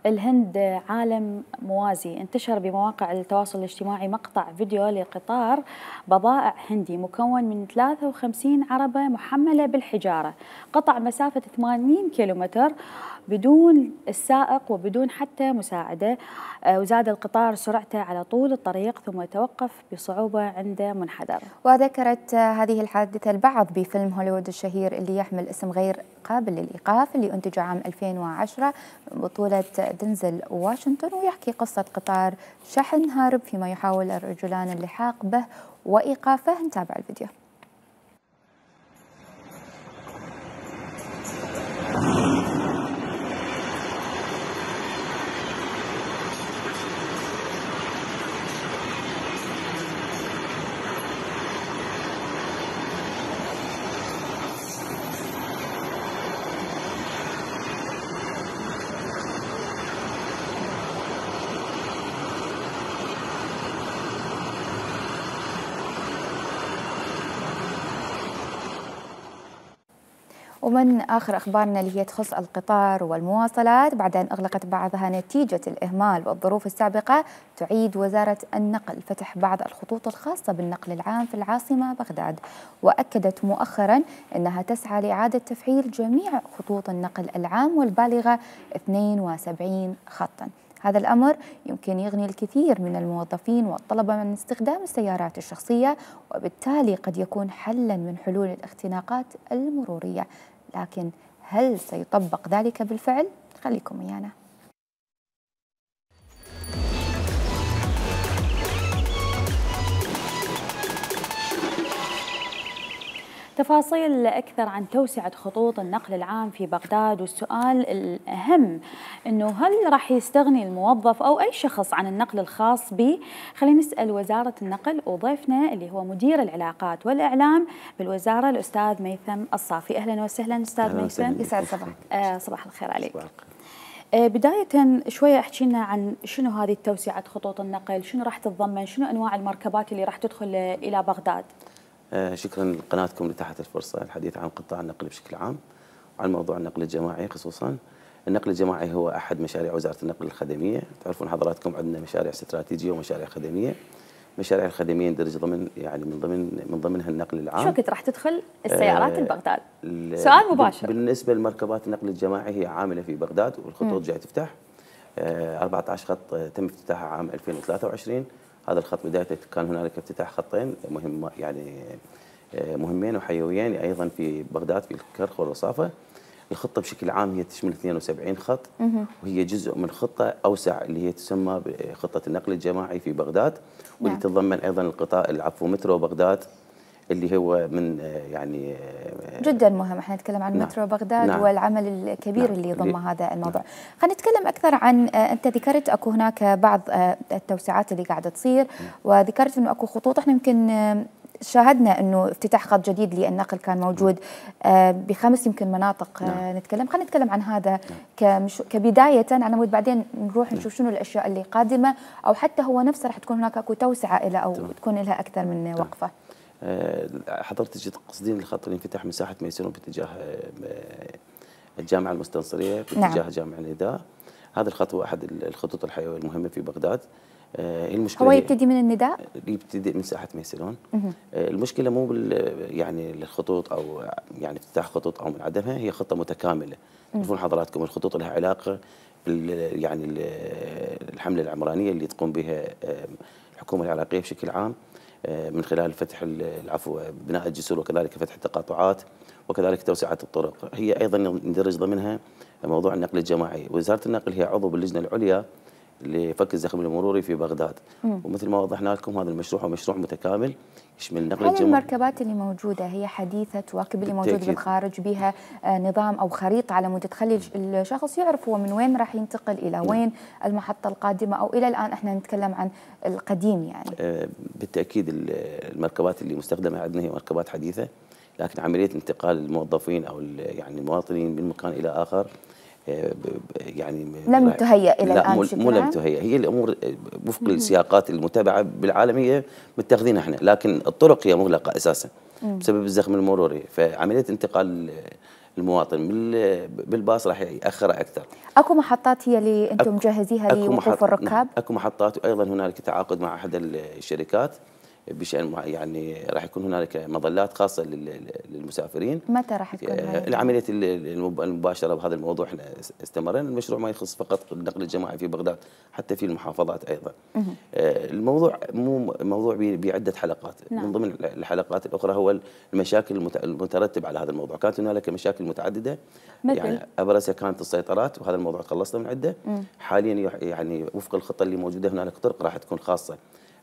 الهند عالم موازي. انتشر بمواقع التواصل الاجتماعي مقطع فيديو لقطار بضائع هندي مكون من ثلاثة وخمسين عربة محملة بالحجارة، قطع مسافة ثمانين كيلومتر بدون السائق وبدون حتى مساعدة، وزاد القطار سرعته على طول الطريق ثم توقف بصعوبة عند منحدر. وذكرت هذه الحادثة البعض بفيلم هوليوود الشهير اللي يحمل اسم غير قابل للإيقاف اللي أنتج عام ألفين وعشرة من بطولة دنزل واشنطن، ويحكي قصة قطار شحن هارب فيما يحاول الرجلان اللحاق به وإيقافه. نتابع الفيديو. ومن آخر أخبارنا اللي هي تخص القطار والمواصلات، بعد أن أغلقت بعضها نتيجة الإهمال والظروف السابقة، تعيد وزارة النقل فتح بعض الخطوط الخاصة بالنقل العام في العاصمة بغداد، وأكدت مؤخرا أنها تسعى لإعادة تفعيل جميع خطوط النقل العام والبالغة اثنين وسبعين خطا. هذا الأمر يمكن يغني الكثير من الموظفين والطلبة من استخدام السيارات الشخصية، وبالتالي قد يكون حلا من حلول الاختناقات المرورية. لكن هل سيطبق ذلك بالفعل؟ خليكم ويانا. تفاصيل أكثر عن توسعة خطوط النقل العام في بغداد، والسؤال الأهم أنه هل راح يستغني الموظف أو أي شخص عن النقل الخاص به؟ خلينا نسأل وزارة النقل وضيفنا اللي هو مدير العلاقات والإعلام بالوزارة الأستاذ ميثم الصافي. أهلا وسهلا أستاذ ميثم. يسعد صباحك. آه صباح الخير عليك. آه بداية شوية احكي لنا عن شنو هذه توسعة خطوط النقل، شنو راح تتضمن، شنو أنواع المركبات اللي راح تدخل إلى بغداد؟ آه شكرا لقناتكم لتحت الفرصة الحديث عن قطاع النقل بشكل عام وعن موضوع النقل الجماعي خصوصا. النقل الجماعي هو أحد مشاريع وزارة النقل الخدمية. تعرفون حضراتكم عندنا مشاريع استراتيجية ومشاريع خدمية. المشاريع الخدمية يندرج ضمن يعني من ضمن من ضمنها النقل العام. شو وقت راح تدخل السيارات آه لبغداد؟ سؤال مباشر. بالنسبة لمركبات النقل الجماعي هي عاملة في بغداد والخطوط جاي تفتح. آه أربعة عشر خط تم افتتاحها عام ألفين وثلاثة وعشرين. هذا الخط بدايته كان هنالك افتتاح خطين مهم يعني مهمين وحيويين ايضا في بغداد في الكرخ والرصافه. الخطه بشكل عام هي تشمل اثنين وسبعين خط وهي جزء من خطه اوسع اللي هي تسمى بخطه النقل الجماعي في بغداد، واللي نعم. تتضمن ايضا القطاع العفو مترو بغداد اللي هو من يعني جدا مهم. احنا نتكلم عن نعم. مترو بغداد نعم. والعمل الكبير نعم. اللي ضم هذا الموضوع. نعم. خلينا نتكلم اكثر عن انت ذكرت اكو هناك بعض التوسعات اللي قاعده تصير نعم. وذكرت انه اكو خطوط احنا يمكن شاهدنا انه افتتاح خط جديد للنقل كان موجود بخمس يمكن مناطق. نعم. نتكلم خلينا نتكلم عن هذا نعم. كبدايه على مود بعدين نروح نشوف شنو الاشياء اللي قادمه، او حتى هو نفسه راح تكون هناك اكو توسعه له او نعم. تكون لها اكثر من وقفه. حضرتك تقصدين الخط اللي انفتح مساحه ميسون باتجاه الجامعه المستنصريه باتجاه نعم. جامع النداء. هذا الخط هو احد الخطوط الحيويه المهمه في بغداد. المشكلة هو يبتدي من النداء؟ يبتدي من ساحة ميسلون. المشكلة مو بال يعني الخطوط أو يعني افتتاح خطوط أو من عدمها، هي خطة متكاملة. تعرفون حضراتكم الخطوط لها علاقة بال يعني الحملة العمرانية اللي تقوم بها الحكومة العراقية بشكل عام من خلال فتح العفو بناء الجسور وكذلك فتح التقاطعات وكذلك توسعة الطرق. هي أيضا يندرج ضمنها موضوع النقل الجماعي. وزارة النقل هي عضو باللجنة العليا لفك الزخم المروري في بغداد. مم. ومثل ما وضحنا لكم هذا المشروع هو مشروع متكامل يشمل نقل الجماعي. هل المركبات اللي موجوده هي حديثه تواكب اللي موجود بالخارج، بها نظام او خريطه على مود تخلي الشخص يعرف هو من وين راح ينتقل الى وين نعم. المحطه القادمه، او الى الان احنا نتكلم عن القديم يعني؟ آه بالتاكيد المركبات اللي مستخدمه عندنا هي مركبات حديثه، لكن عمليه انتقال الموظفين او يعني المواطنين من مكان الى اخر يعني لم تهيأ الى الان. مو لم تهيأ، هي الامور وفق السياقات المتبعه بالعالميه متخذينها احنا، لكن الطرق هي مغلقه اساسا بسبب الزخم المروري، فعمليه انتقال المواطن بالباص راح ياخرها اكثر. اكو محطات هي اللي انتم مجهزيها لوقوف الركاب؟ نعم. اكو محطات، وايضا هنالك تعاقد مع احد الشركات بشأن يعني راح يكون هنالك مظلات خاصة للمسافرين. متى راح تكون هذه؟ العملية المباشرة بهذا الموضوع احنا استمرنا. المشروع ما يخص فقط النقل الجماعي في بغداد، حتى في المحافظات أيضا. الموضوع مو موضوع بعدة حلقات. نعم. من ضمن الحلقات الأخرى هو المشاكل المترتبة على هذا الموضوع. كانت هنالك مشاكل متعددة مثل؟ يعني أبرزها كانت السيطرات، وهذا الموضوع تخلصنا من عدة. حاليا يعني وفق الخطة اللي موجودة هنالك طرق راح تكون خاصة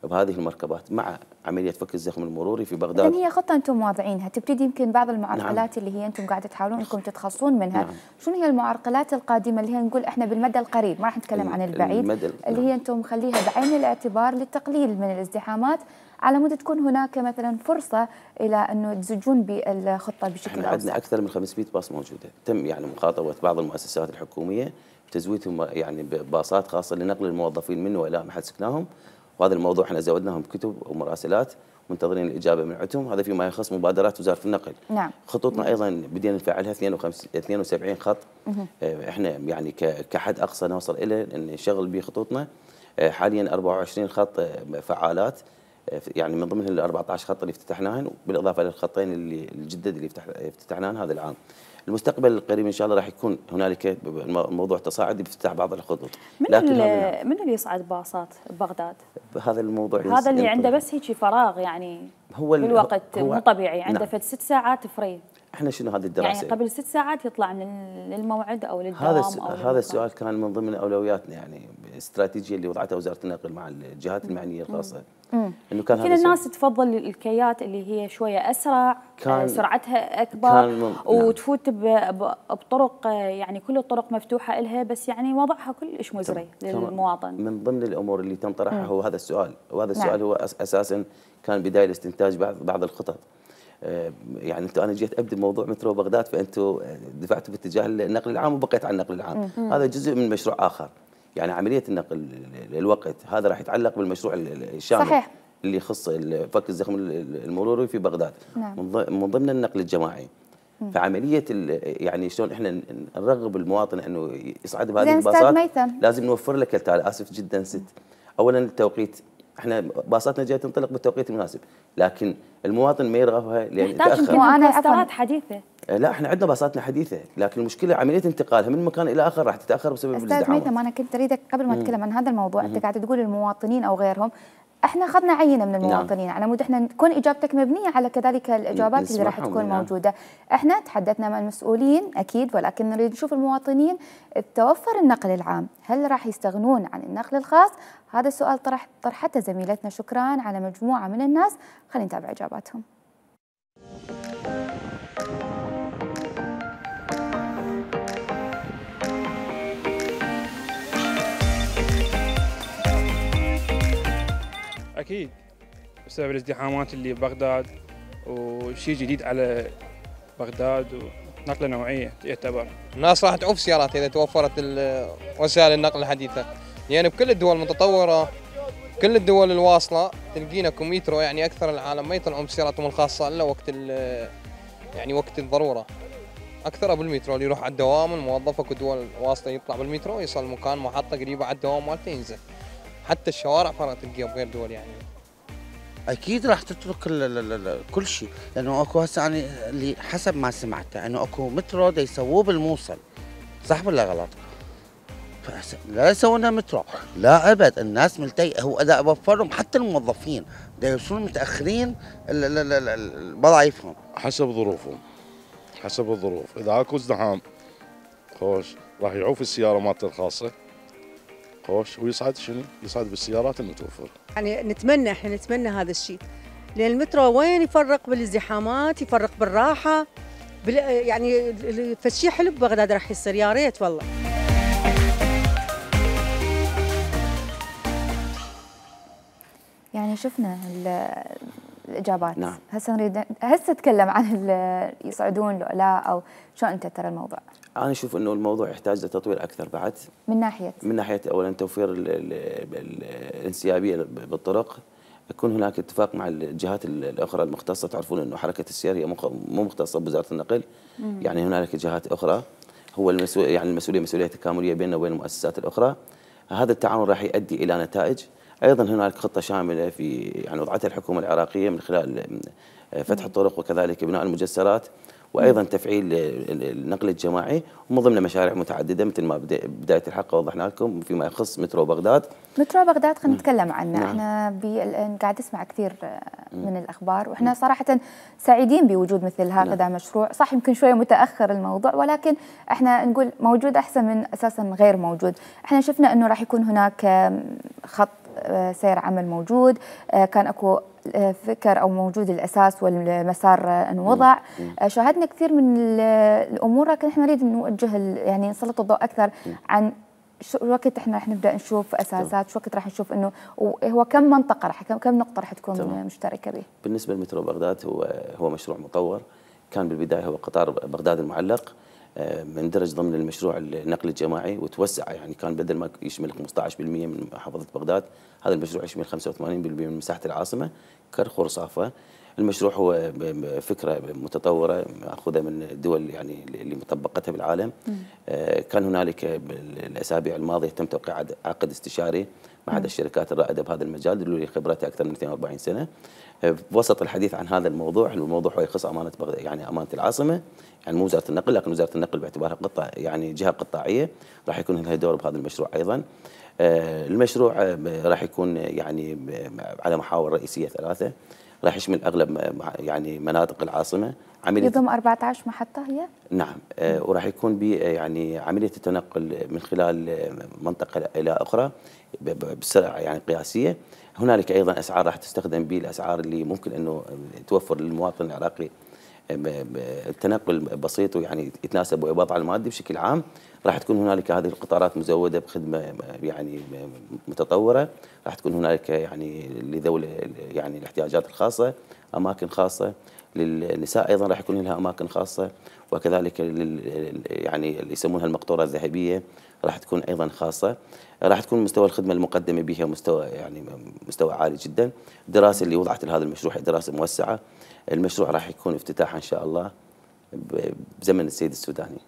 بهذه المركبات مع عمليه فك الزخم المروري في بغداد. إذن هي خطه انتم واضعينها، تبتدي يمكن بعض المعرقلات نعم. اللي هي انتم قاعده تحاولون انكم تتخلصون منها. نعم. شنو هي المعرقلات القادمه اللي هي نقول احنا بالمدى القريب، ما راح نتكلم عن البعيد، اللي هي انتم مخليها بعين الاعتبار للتقليل من الازدحامات على مود تكون هناك مثلا فرصه الى انه تزجون بالخطه بشكل اوسع؟ احنا عندنا اكثر من خمسمئة باص موجوده، تم يعني مخاطبه بعض المؤسسات الحكوميه بتزويدهم يعني بباصات خاصه لنقل الموظفين من والى محل سكناهم، وهذا الموضوع احنا زودناهم بكتب ومراسلات منتظرين الاجابه من عندهم. هذا فيما يخص مبادرات وزاره النقل. نعم. خطوطنا ايضا بدينا نفعلها اثنين وسبعين خط. اه احنا يعني كحد اقصى نوصل الى ان نشغل به خطوطنا. اه حاليا أربعة وعشرين خط فعالات، اه يعني من ضمنها ال أربعة عشر خط اللي افتتحناهن، بالاضافه للخطين اللي الجدد اللي افتتحناهن هذا العام. المستقبل القريب ان شاء الله راح يكون هنالك موضوع تصاعدي بافتتاح بعض الخطوط. من لكن اللي من اللي يصعد باصات ببغداد؟ هذا الموضوع هذا اللي عنده بس هيك فراغ يعني هو بالوقت هو مو طبيعي، عنده نعم. فد ست ساعات فري. احنا شنو هذه الدراسه؟ يعني قبل ست ساعات يطلع من الموعد او للدوام هذا أو هذا للمكان. السؤال كان من ضمن اولوياتنا، يعني الاستراتيجيه اللي وضعتها وزاره النقل مع الجهات المعنيه الخاصه. امم انه كان يمكن الناس تفضل الكيات اللي هي شويه اسرع، كان سرعتها اكبر كان وتفوت بطرق، يعني كل الطرق مفتوحه لها، بس يعني وضعها كلش مزري للمواطن. من ضمن الامور اللي تم طرحها هو هذا السؤال، وهذا السؤال نعم. هو اساسا كان بدايه لاستنتاج بعض بعض الخطط. يعني انتم انا جيت ابدا موضوع مترو بغداد، فانتم دفعتوا باتجاه النقل العام وبقيت على النقل العام. مم. هذا جزء من مشروع اخر، يعني عمليه النقل الوقت هذا راح يتعلق بالمشروع الشامل صحيح. اللي يخص فك الزخم المروري في بغداد. نعم. من ضمن النقل الجماعي. مم. فعمليه يعني شلون احنا نرغب المواطن انه يصعد بهذه الباصات، لازم نوفر لك التالي. اسف جدا ست، اولا التوقيت، احنا باصاتنا جايه تنطلق بالتوقيت المناسب، لكن المواطن ما يرغبها لان يتاخر. وانا عفوا حديثه، لا احنا عندنا باصاتنا حديثه، لكن المشكله عمليه انتقالها من مكان الى اخر راح تتاخر بسبب الازدحام. استاذ ميثم، انا كنت اريدك قبل ما اتكلم عن هذا الموضوع، انت قاعد تقول المواطنين او غيرهم، احنا اخذنا عينه من المواطنين. نعم. على مود احنا تكون اجابتك مبنيه على كذلك الاجابات اللي راح تكون نعم. موجوده. احنا تحدثنا مع المسؤولين اكيد، ولكن نريد نشوف المواطنين توفر النقل العام، هل راح يستغنون عن النقل الخاص؟ هذا السؤال طرح طرحته زميلتنا شكران على مجموعه من الناس، خلينا نتابع اجاباتهم. أكيد بسبب الازدحامات اللي ببغداد، وشيء جديد على بغداد ونقلة نوعية يعتبر. الناس راح تعوف سيارات إذا توفرت وسائل النقل الحديثة، يعني بكل الدول المتطورة كل الدول الواصلة تلقينا كميترو، يعني أكثر العالم ما يطلعون بسياراتهم الخاصة إلا وقت يعني وقت الضرورة. أكثر بالمترو اللي يروح على الدوام، الموظف اكو دول واصلة يطلع بالمترو يصل مكان محطة قريبة على الدوام مالته ينزل. حتى الشوارع فرق تلقيها بغير دول يعني. اكيد راح تترك كل شيء، لانه اكو هسه يعني اللي حسب ما سمعته انه اكو مترو دا يسووه بالموصل، صح ولا غلط؟ لا يسوون مترو، لا ابد، الناس ملتي هو اذا اوفرهم حتى الموظفين دا يوصلون متاخرين بضايفهم حسب ظروفهم، حسب الظروف. اذا اكو ازدحام خوش راح يعوف السياره مالته الخاصه خوش ويصعد شنو؟ يصعد بالسيارات المتوفره. يعني نتمنى احنا نتمنى هذا الشيء، لان المترو وين يفرق بالازدحامات، يفرق بالراحه، بال يعني فشي حلو ببغداد راح يصير، يا ريت والله. يعني شفنا الاجابات. نعم. هسه نريد هسه نتكلم عن يصعدون لو لا، او شو انت ترى الموضوع؟ أنا أشوف أنه الموضوع يحتاج لتطوير أكثر بعد. من ناحية؟ من ناحية أولاً توفير الانسيابية بالطرق، يكون هناك اتفاق مع الجهات الأخرى المختصة. تعرفون أنه حركة السير هي مو مختصة بوزارة النقل، مم. يعني هنالك جهات أخرى، هو المسؤول يعني المسؤولية مسؤولية تكاملية بيننا وبين المؤسسات الأخرى. هذا التعاون راح يؤدي إلى نتائج. أيضاً هنالك خطة شاملة في يعني وضعتها الحكومة العراقية من خلال فتح الطرق وكذلك بناء المجسرات، وايضا تفعيل النقل الجماعي، ومن ضمن مشاريع متعدده مثل ما بدايه الحلقه وضحنا لكم فيما يخص مترو بغداد. مترو بغداد خلينا نتكلم عنه. نعم. احنا الان قاعد نسمع كثير من الاخبار، واحنا صراحه سعيدين بوجود مثل هكذا نعم. مشروع، صح يمكن شويه متاخر الموضوع، ولكن احنا نقول موجود احسن من اساسا غير موجود. احنا شفنا انه راح يكون هناك خط سير عمل موجود، كان اكو فكر او موجود الاساس والمسار انوضع، شاهدنا كثير من الامور، لكن احنا نريد نوجه يعني نسلط الضوء اكثر عن شو وقت احنا راح نبدا نشوف اساسات، شو وقت راح نشوف انه هو كم منطقه راح كم نقطه راح تكون طبعا. مشتركه به. بالنسبه لمترو بغداد هو هو مشروع مطور، كان بالبدايه هو قطار بغداد المعلق، مندرج ضمن المشروع النقل الجماعي وتوسع، يعني كان بدل ما يشمل خمسة عشر بالمئة من محافظه بغداد، هذا المشروع يشمل خمسة وثمانين بالمئة من مساحه العاصمه كرخ ورصافه. المشروع هو فكره متطوره ماخوذه من الدول يعني اللي مطبقتها بالعالم. كان هنالك الاسابيع الماضيه تم توقيع عقد استشاري مع احد الشركات الرائده بهذا المجال اللي خبرتها اكثر من اثنين وأربعين سنه. بوسط الحديث عن هذا الموضوع، الموضوع هو يخص امانه بغداد، يعني امانه العاصمه، يعني مو وزاره النقل، لكن وزاره النقل باعتبارها قطاع يعني جهه قطاعيه راح يكون لها دور بهذا المشروع ايضا. المشروع راح يكون يعني على محاور رئيسيه ثلاثه، راح يشمل اغلب يعني مناطق العاصمه. عمليه يضم أربعة عشر محطه هي؟ نعم. آه وراح يكون ب يعني عمليه التنقل من خلال منطقه الى اخرى بسرعه يعني قياسيه. هنالك ايضا اسعار راح تستخدم به، الاسعار اللي ممكن انه توفر للمواطن العراقي التنقل بسيط ويعني يتناسب ويا الوضع المادي بشكل عام. راح تكون هنالك هذه القطارات مزوده بخدمه يعني متطوره، راح تكون هنالك يعني لذوي يعني الاحتياجات الخاصه اماكن خاصه، للنساء ايضا راح يكون لها اماكن خاصه، وكذلك يعني اللي يسمونها المقطوره الذهبيه راح تكون ايضا خاصه. راح تكون مستوى الخدمه المقدمه بها مستوى يعني مستوى عالي جدا. الدراسه اللي وضعت لهذا المشروع هي دراسه موسعه. المشروع راح يكون افتتاحه ان شاء الله بزمن السيد السوداني.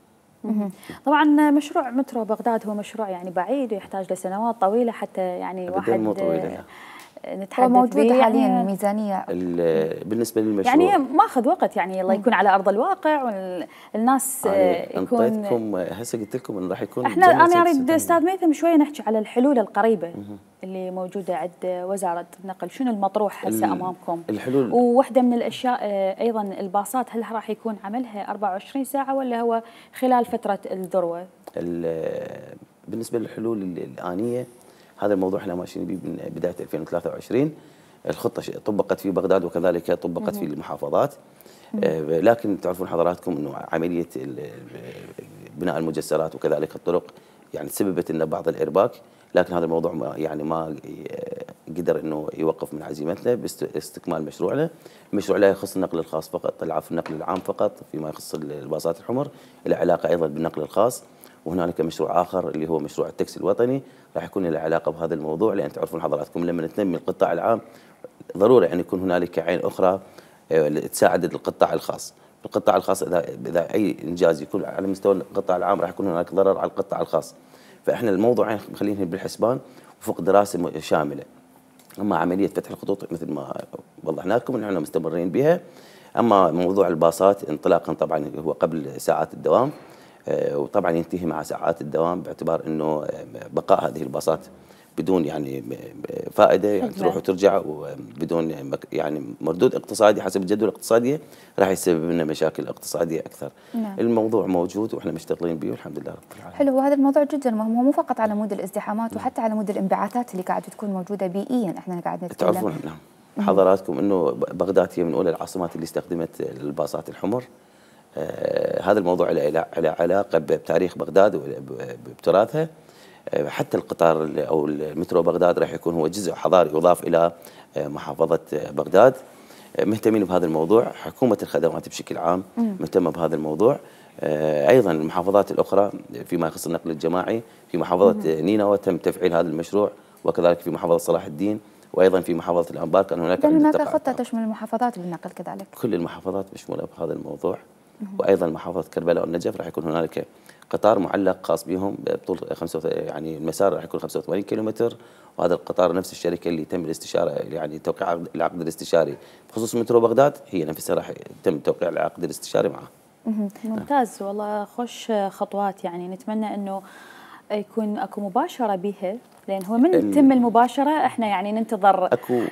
طبعا مشروع مترو بغداد هو مشروع يعني بعيد ويحتاج لسنوات طويله حتى يعني واحد مو طويله. نتحدث هو موجود حاليا يعني ميزانيه بالنسبه للمشروع يعني ماخذ وقت، يعني الله يكون على ارض الواقع والناس يكون. انطيتكم هسه قلت لكم انه راح يكون احنا انا اريد استاذ ميثم شويه نحكي على الحلول القريبه اللي موجوده عند وزاره النقل، شنو المطروح هسه امامكم؟ الحلول وواحده من الاشياء ايضا الباصات، هل راح يكون عملها أربعة وعشرين ساعه ولا هو خلال فتره الذروه؟ بالنسبه للحلول الانيه هذا الموضوع احنا ماشيين به من بدايه ألفين وثلاثة وعشرين. الخطه طبقت في بغداد وكذلك طبقت في المحافظات. آه لكن تعرفون حضراتكم انه عمليه بناء المجسرات وكذلك الطرق يعني سببت ان بعض الارباك، لكن هذا الموضوع ما يعني ما قدر انه يوقف من عزيمتنا باستكمال مشروعنا. المشروع لا يخص النقل الخاص فقط، العفو النقل العام فقط فيما يخص الباصات الحمر، له علاقه ايضا بالنقل الخاص. وهنالك مشروع اخر اللي هو مشروع التاكسي الوطني راح يكون له علاقه بهذا الموضوع، لان تعرفون حضراتكم لما نتنمي القطاع العام ضروري ان يكون هنالك عين اخرى تساعد القطاع الخاص. القطاع الخاص اذا اذا اي انجاز يكون على مستوى القطاع العام راح يكون هناك ضرر على القطاع الخاص. فاحنا الموضوعين مخلينهم بالحسبان وفق دراسه شامله. اما عمليه فتح الخطوط مثل ما وضحنا لكم ان احنا مستمرين بها. اما موضوع الباصات انطلاقا طبعا هو قبل ساعات الدوام، وطبعا ينتهي مع ساعات الدوام باعتبار انه بقاء هذه الباصات بدون يعني فائده يعني تروح وترجع وبدون يعني مردود اقتصادي حسب الجدول الاقتصاديه راح يسبب لنا مشاكل اقتصاديه اكثر. نعم. الموضوع موجود واحنا مشتغلين به والحمد لله رب العالمين. حلو، وهذا الموضوع جدا مهم، هو مو فقط على مود الازدحامات وحتى على مود الانبعاثات اللي قاعده تكون موجوده بيئيا. احنا قاعد نتكلم تعرفون نعم حضراتكم انه بغداد هي من اولى العاصمات اللي استخدمت الباصات الحمر. آه هذا الموضوع له علاقه بتاريخ بغداد وبتراثها. آه حتى القطار او المترو بغداد راح يكون هو جزء حضاري يضاف الى آه محافظه بغداد. آه مهتمين بهذا الموضوع، حكومه الخدمات بشكل عام مهتمه بهذا الموضوع. آه ايضا المحافظات الاخرى فيما يخص النقل الجماعي، في محافظه نينوى تم تفعيل هذا المشروع، وكذلك في محافظه صلاح الدين، وايضا في محافظه الانبار كان هناك هناك خطه تشمل المحافظات بالنقل كذلك. كل المحافظات مشموله بهذا الموضوع. وايضا محافظه كربلاء والنجف راح يكون هنالك قطار معلق خاص بهم بطول خمسة يعني المسار راح يكون خمسة وثمانين كيلومتر، وهذا القطار نفس الشركه اللي تم الاستشاره يعني توقيع العقد الاستشاري بخصوص مترو بغداد هي نفسها راح يتم توقيع العقد الاستشاري معه. ممتاز والله، خوش خطوات. يعني نتمنى انه يكون اكو مباشره بها، لان هو من تتم المباشره احنا يعني ننتظر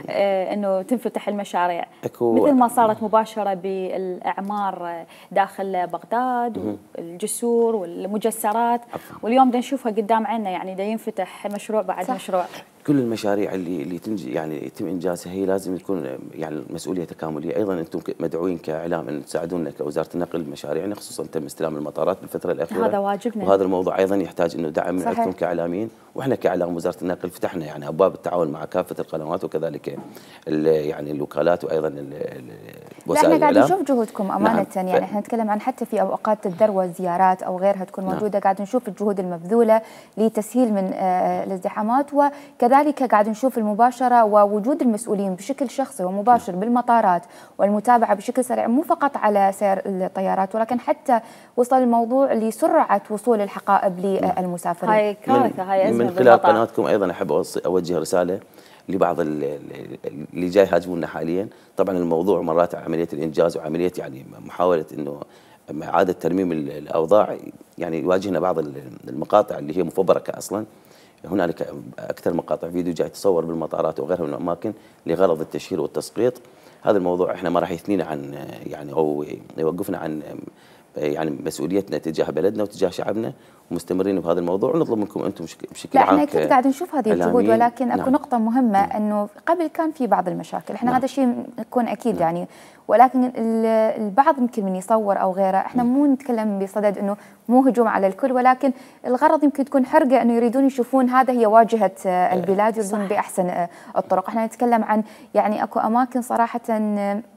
آه انه تنفتح المشاريع أكو مثل ما صارت مباشره بالاعمار داخل بغداد والجسور والمجسرات. أفو. واليوم دا نشوفها قدام عنا، يعني دا ينفتح مشروع بعد صح. مشروع. كل المشاريع اللي اللي تنجي يعني يتم انجازها هي لازم تكون يعني مسؤوليه تكامليه. ايضا انتم مدعوين كاعلام ان تساعدونا كوزاره النقل بمشاريعنا، خصوصا تم استلام المطارات بالفتره الاخيره. هذا واجبنا. وهذا الموضوع ايضا يحتاج انه دعم من عندكم كاعلاميين، واحنا كاعلام وزاره النقل فتحنا يعني ابواب التعاون مع كافه القنوات وكذلك يعني الوكالات وايضا وسائل الاعلام. احنا قاعد نشوف جهودكم امانه. نعم. يعني احنا نتكلم عن حتى في اوقات الذروه زيارات او غيرها تكون موجوده. نعم. قاعد نشوف الجهود المبذوله لتسهيل من آه الازدحامات وكذلك لذلك قاعد نشوف المباشرة ووجود المسؤولين بشكل شخصي ومباشر بالمطارات والمتابعة بشكل سريع، مو فقط على سير الطيارات ولكن حتى وصل الموضوع لسرعة وصول الحقائب للمسافرين. هاي كارثة، هاي أزمة من خلال قناتكم أيضا أحب أوجه رسالة لبعض اللي جاي يهاجمونا حاليا. طبعا الموضوع مرات عملية الإنجاز وعملية يعني محاولة إنه إعادة ترميم الأوضاع، يعني يواجهنا بعض المقاطع اللي هي مفبركة أصلا. هنالك أكثر مقاطع فيديو جاي تصور بالمطارات وغيرها من الأماكن لغرض التشهير والتسقيط. هذا الموضوع احنا ما راح يثنينا عن يعني أو يوقفنا عن يعني مسؤوليتنا تجاه بلدنا وتجاه شعبنا، ومستمرين بهذا الموضوع، ونطلب منكم انتم بشكل لا عام. احنا اكيد قاعد نشوف هذه الجهود، ولكن اكو نعم. نقطة مهمة انه قبل كان في بعض المشاكل، احنا نعم. هذا الشيء يكون اكيد نعم. يعني ولكن البعض يمكن من يصور او غيره، احنا مو نتكلم بصدد انه مو هجوم على الكل، ولكن الغرض يمكن تكون حرقة انه يريدون يشوفون هذا هي واجهة البلاد، يريدون باحسن الطرق. احنا نتكلم عن يعني اكو اماكن صراحة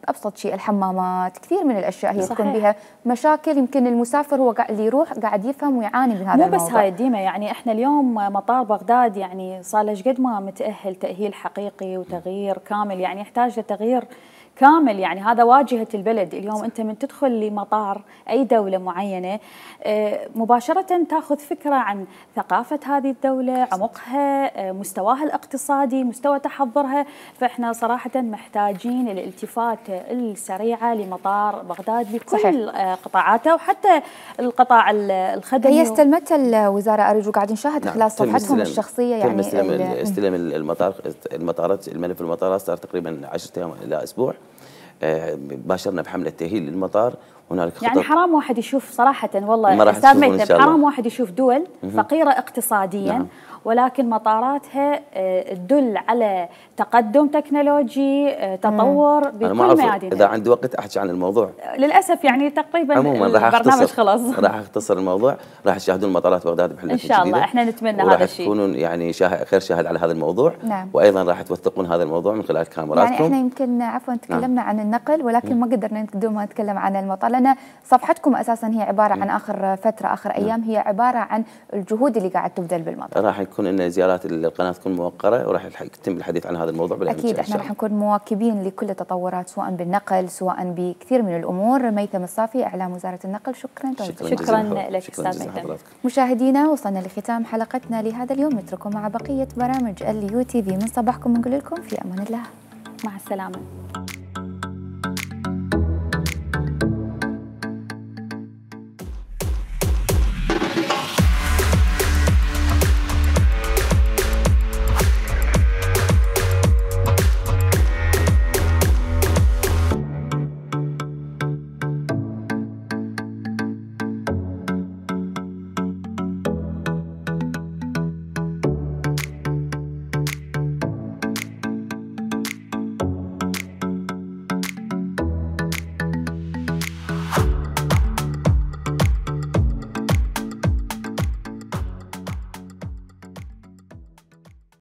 ابسط شيء الحمامات، كثير من الاشياء هي تكون بها مشاكل، يمكن المسافر هو اللي يروح قاعد يفهم ويعاني من هذا مو الموضوع. بس هاي ديما، يعني احنا اليوم مطار بغداد يعني صار له قد ما متأهل تأهيل حقيقي وتغيير كامل، يعني يحتاج لتغيير كامل. يعني هذا واجهة البلد. اليوم أنت من تدخل لمطار أي دولة معينة مباشرة تأخذ فكرة عن ثقافة هذه الدولة، عمقها، مستواها الاقتصادي، مستوى تحضرها. فإحنا صراحة محتاجين الالتفات السريعة لمطار بغداد بكل صحيح. قطاعاته، وحتى القطاع الخدمي. هي استلمتها الوزارة أرجو، قاعد نشاهد نعم. خلال صفحتهم الشخصية يعني استلم استلم المطار المطارات الملف المطارات صار تقريبا عشرة أيام إلى أسبوع. باشرنا بحملة تأهيل للمطار. هنالك خطط، يعني حرام واحد يشوف صراحة والله أستاذ ميثم، حرام واحد يشوف دول فقيرة اقتصاديا نعم. ولكن مطاراتها تدل على تقدم تكنولوجي، تطور بكل ميادين. إذا عندي وقت أحكي عن الموضوع. للأسف يعني تقريبا البرنامج خلاص. راح أختصر الموضوع. راح تشاهدون مطارات بغداد بحلة إن شاء الله. إحنا نتمنى هذا الشيء. وراح تكونون يعني شاهد خير شاهد على هذا الموضوع نعم. وأيضا راح توثقون هذا الموضوع من خلال كاميراتكم. يعني إحنا يمكن عفوا تكلمنا نعم. عن النقل، ولكن ما قدرنا بدون ما نتكلم عن المطار، لأن صفحتكم أساسا هي عبارة عن آخر فترة آخر أيام هي عبارة عن الجهود اللي قاعد تبذل بالمطار. راح يكون لنا زيارات القناة تكون موقرة، وراح يتم الحديث عن هذا الموضوع بلا أكيد. احنا راح نكون مواكبين لكل التطورات سواء بالنقل سواء بكثير من الأمور. ميثم الصافي، إعلام وزارة النقل، شكرا شكرا, شكرا لك أستاذ ميثم. مشاهدينا وصلنا لختام حلقتنا لهذا اليوم، نترككم مع بقية برامج اليو تي في. من صباحكم نقول لكم في أمان الله، مع السلامة.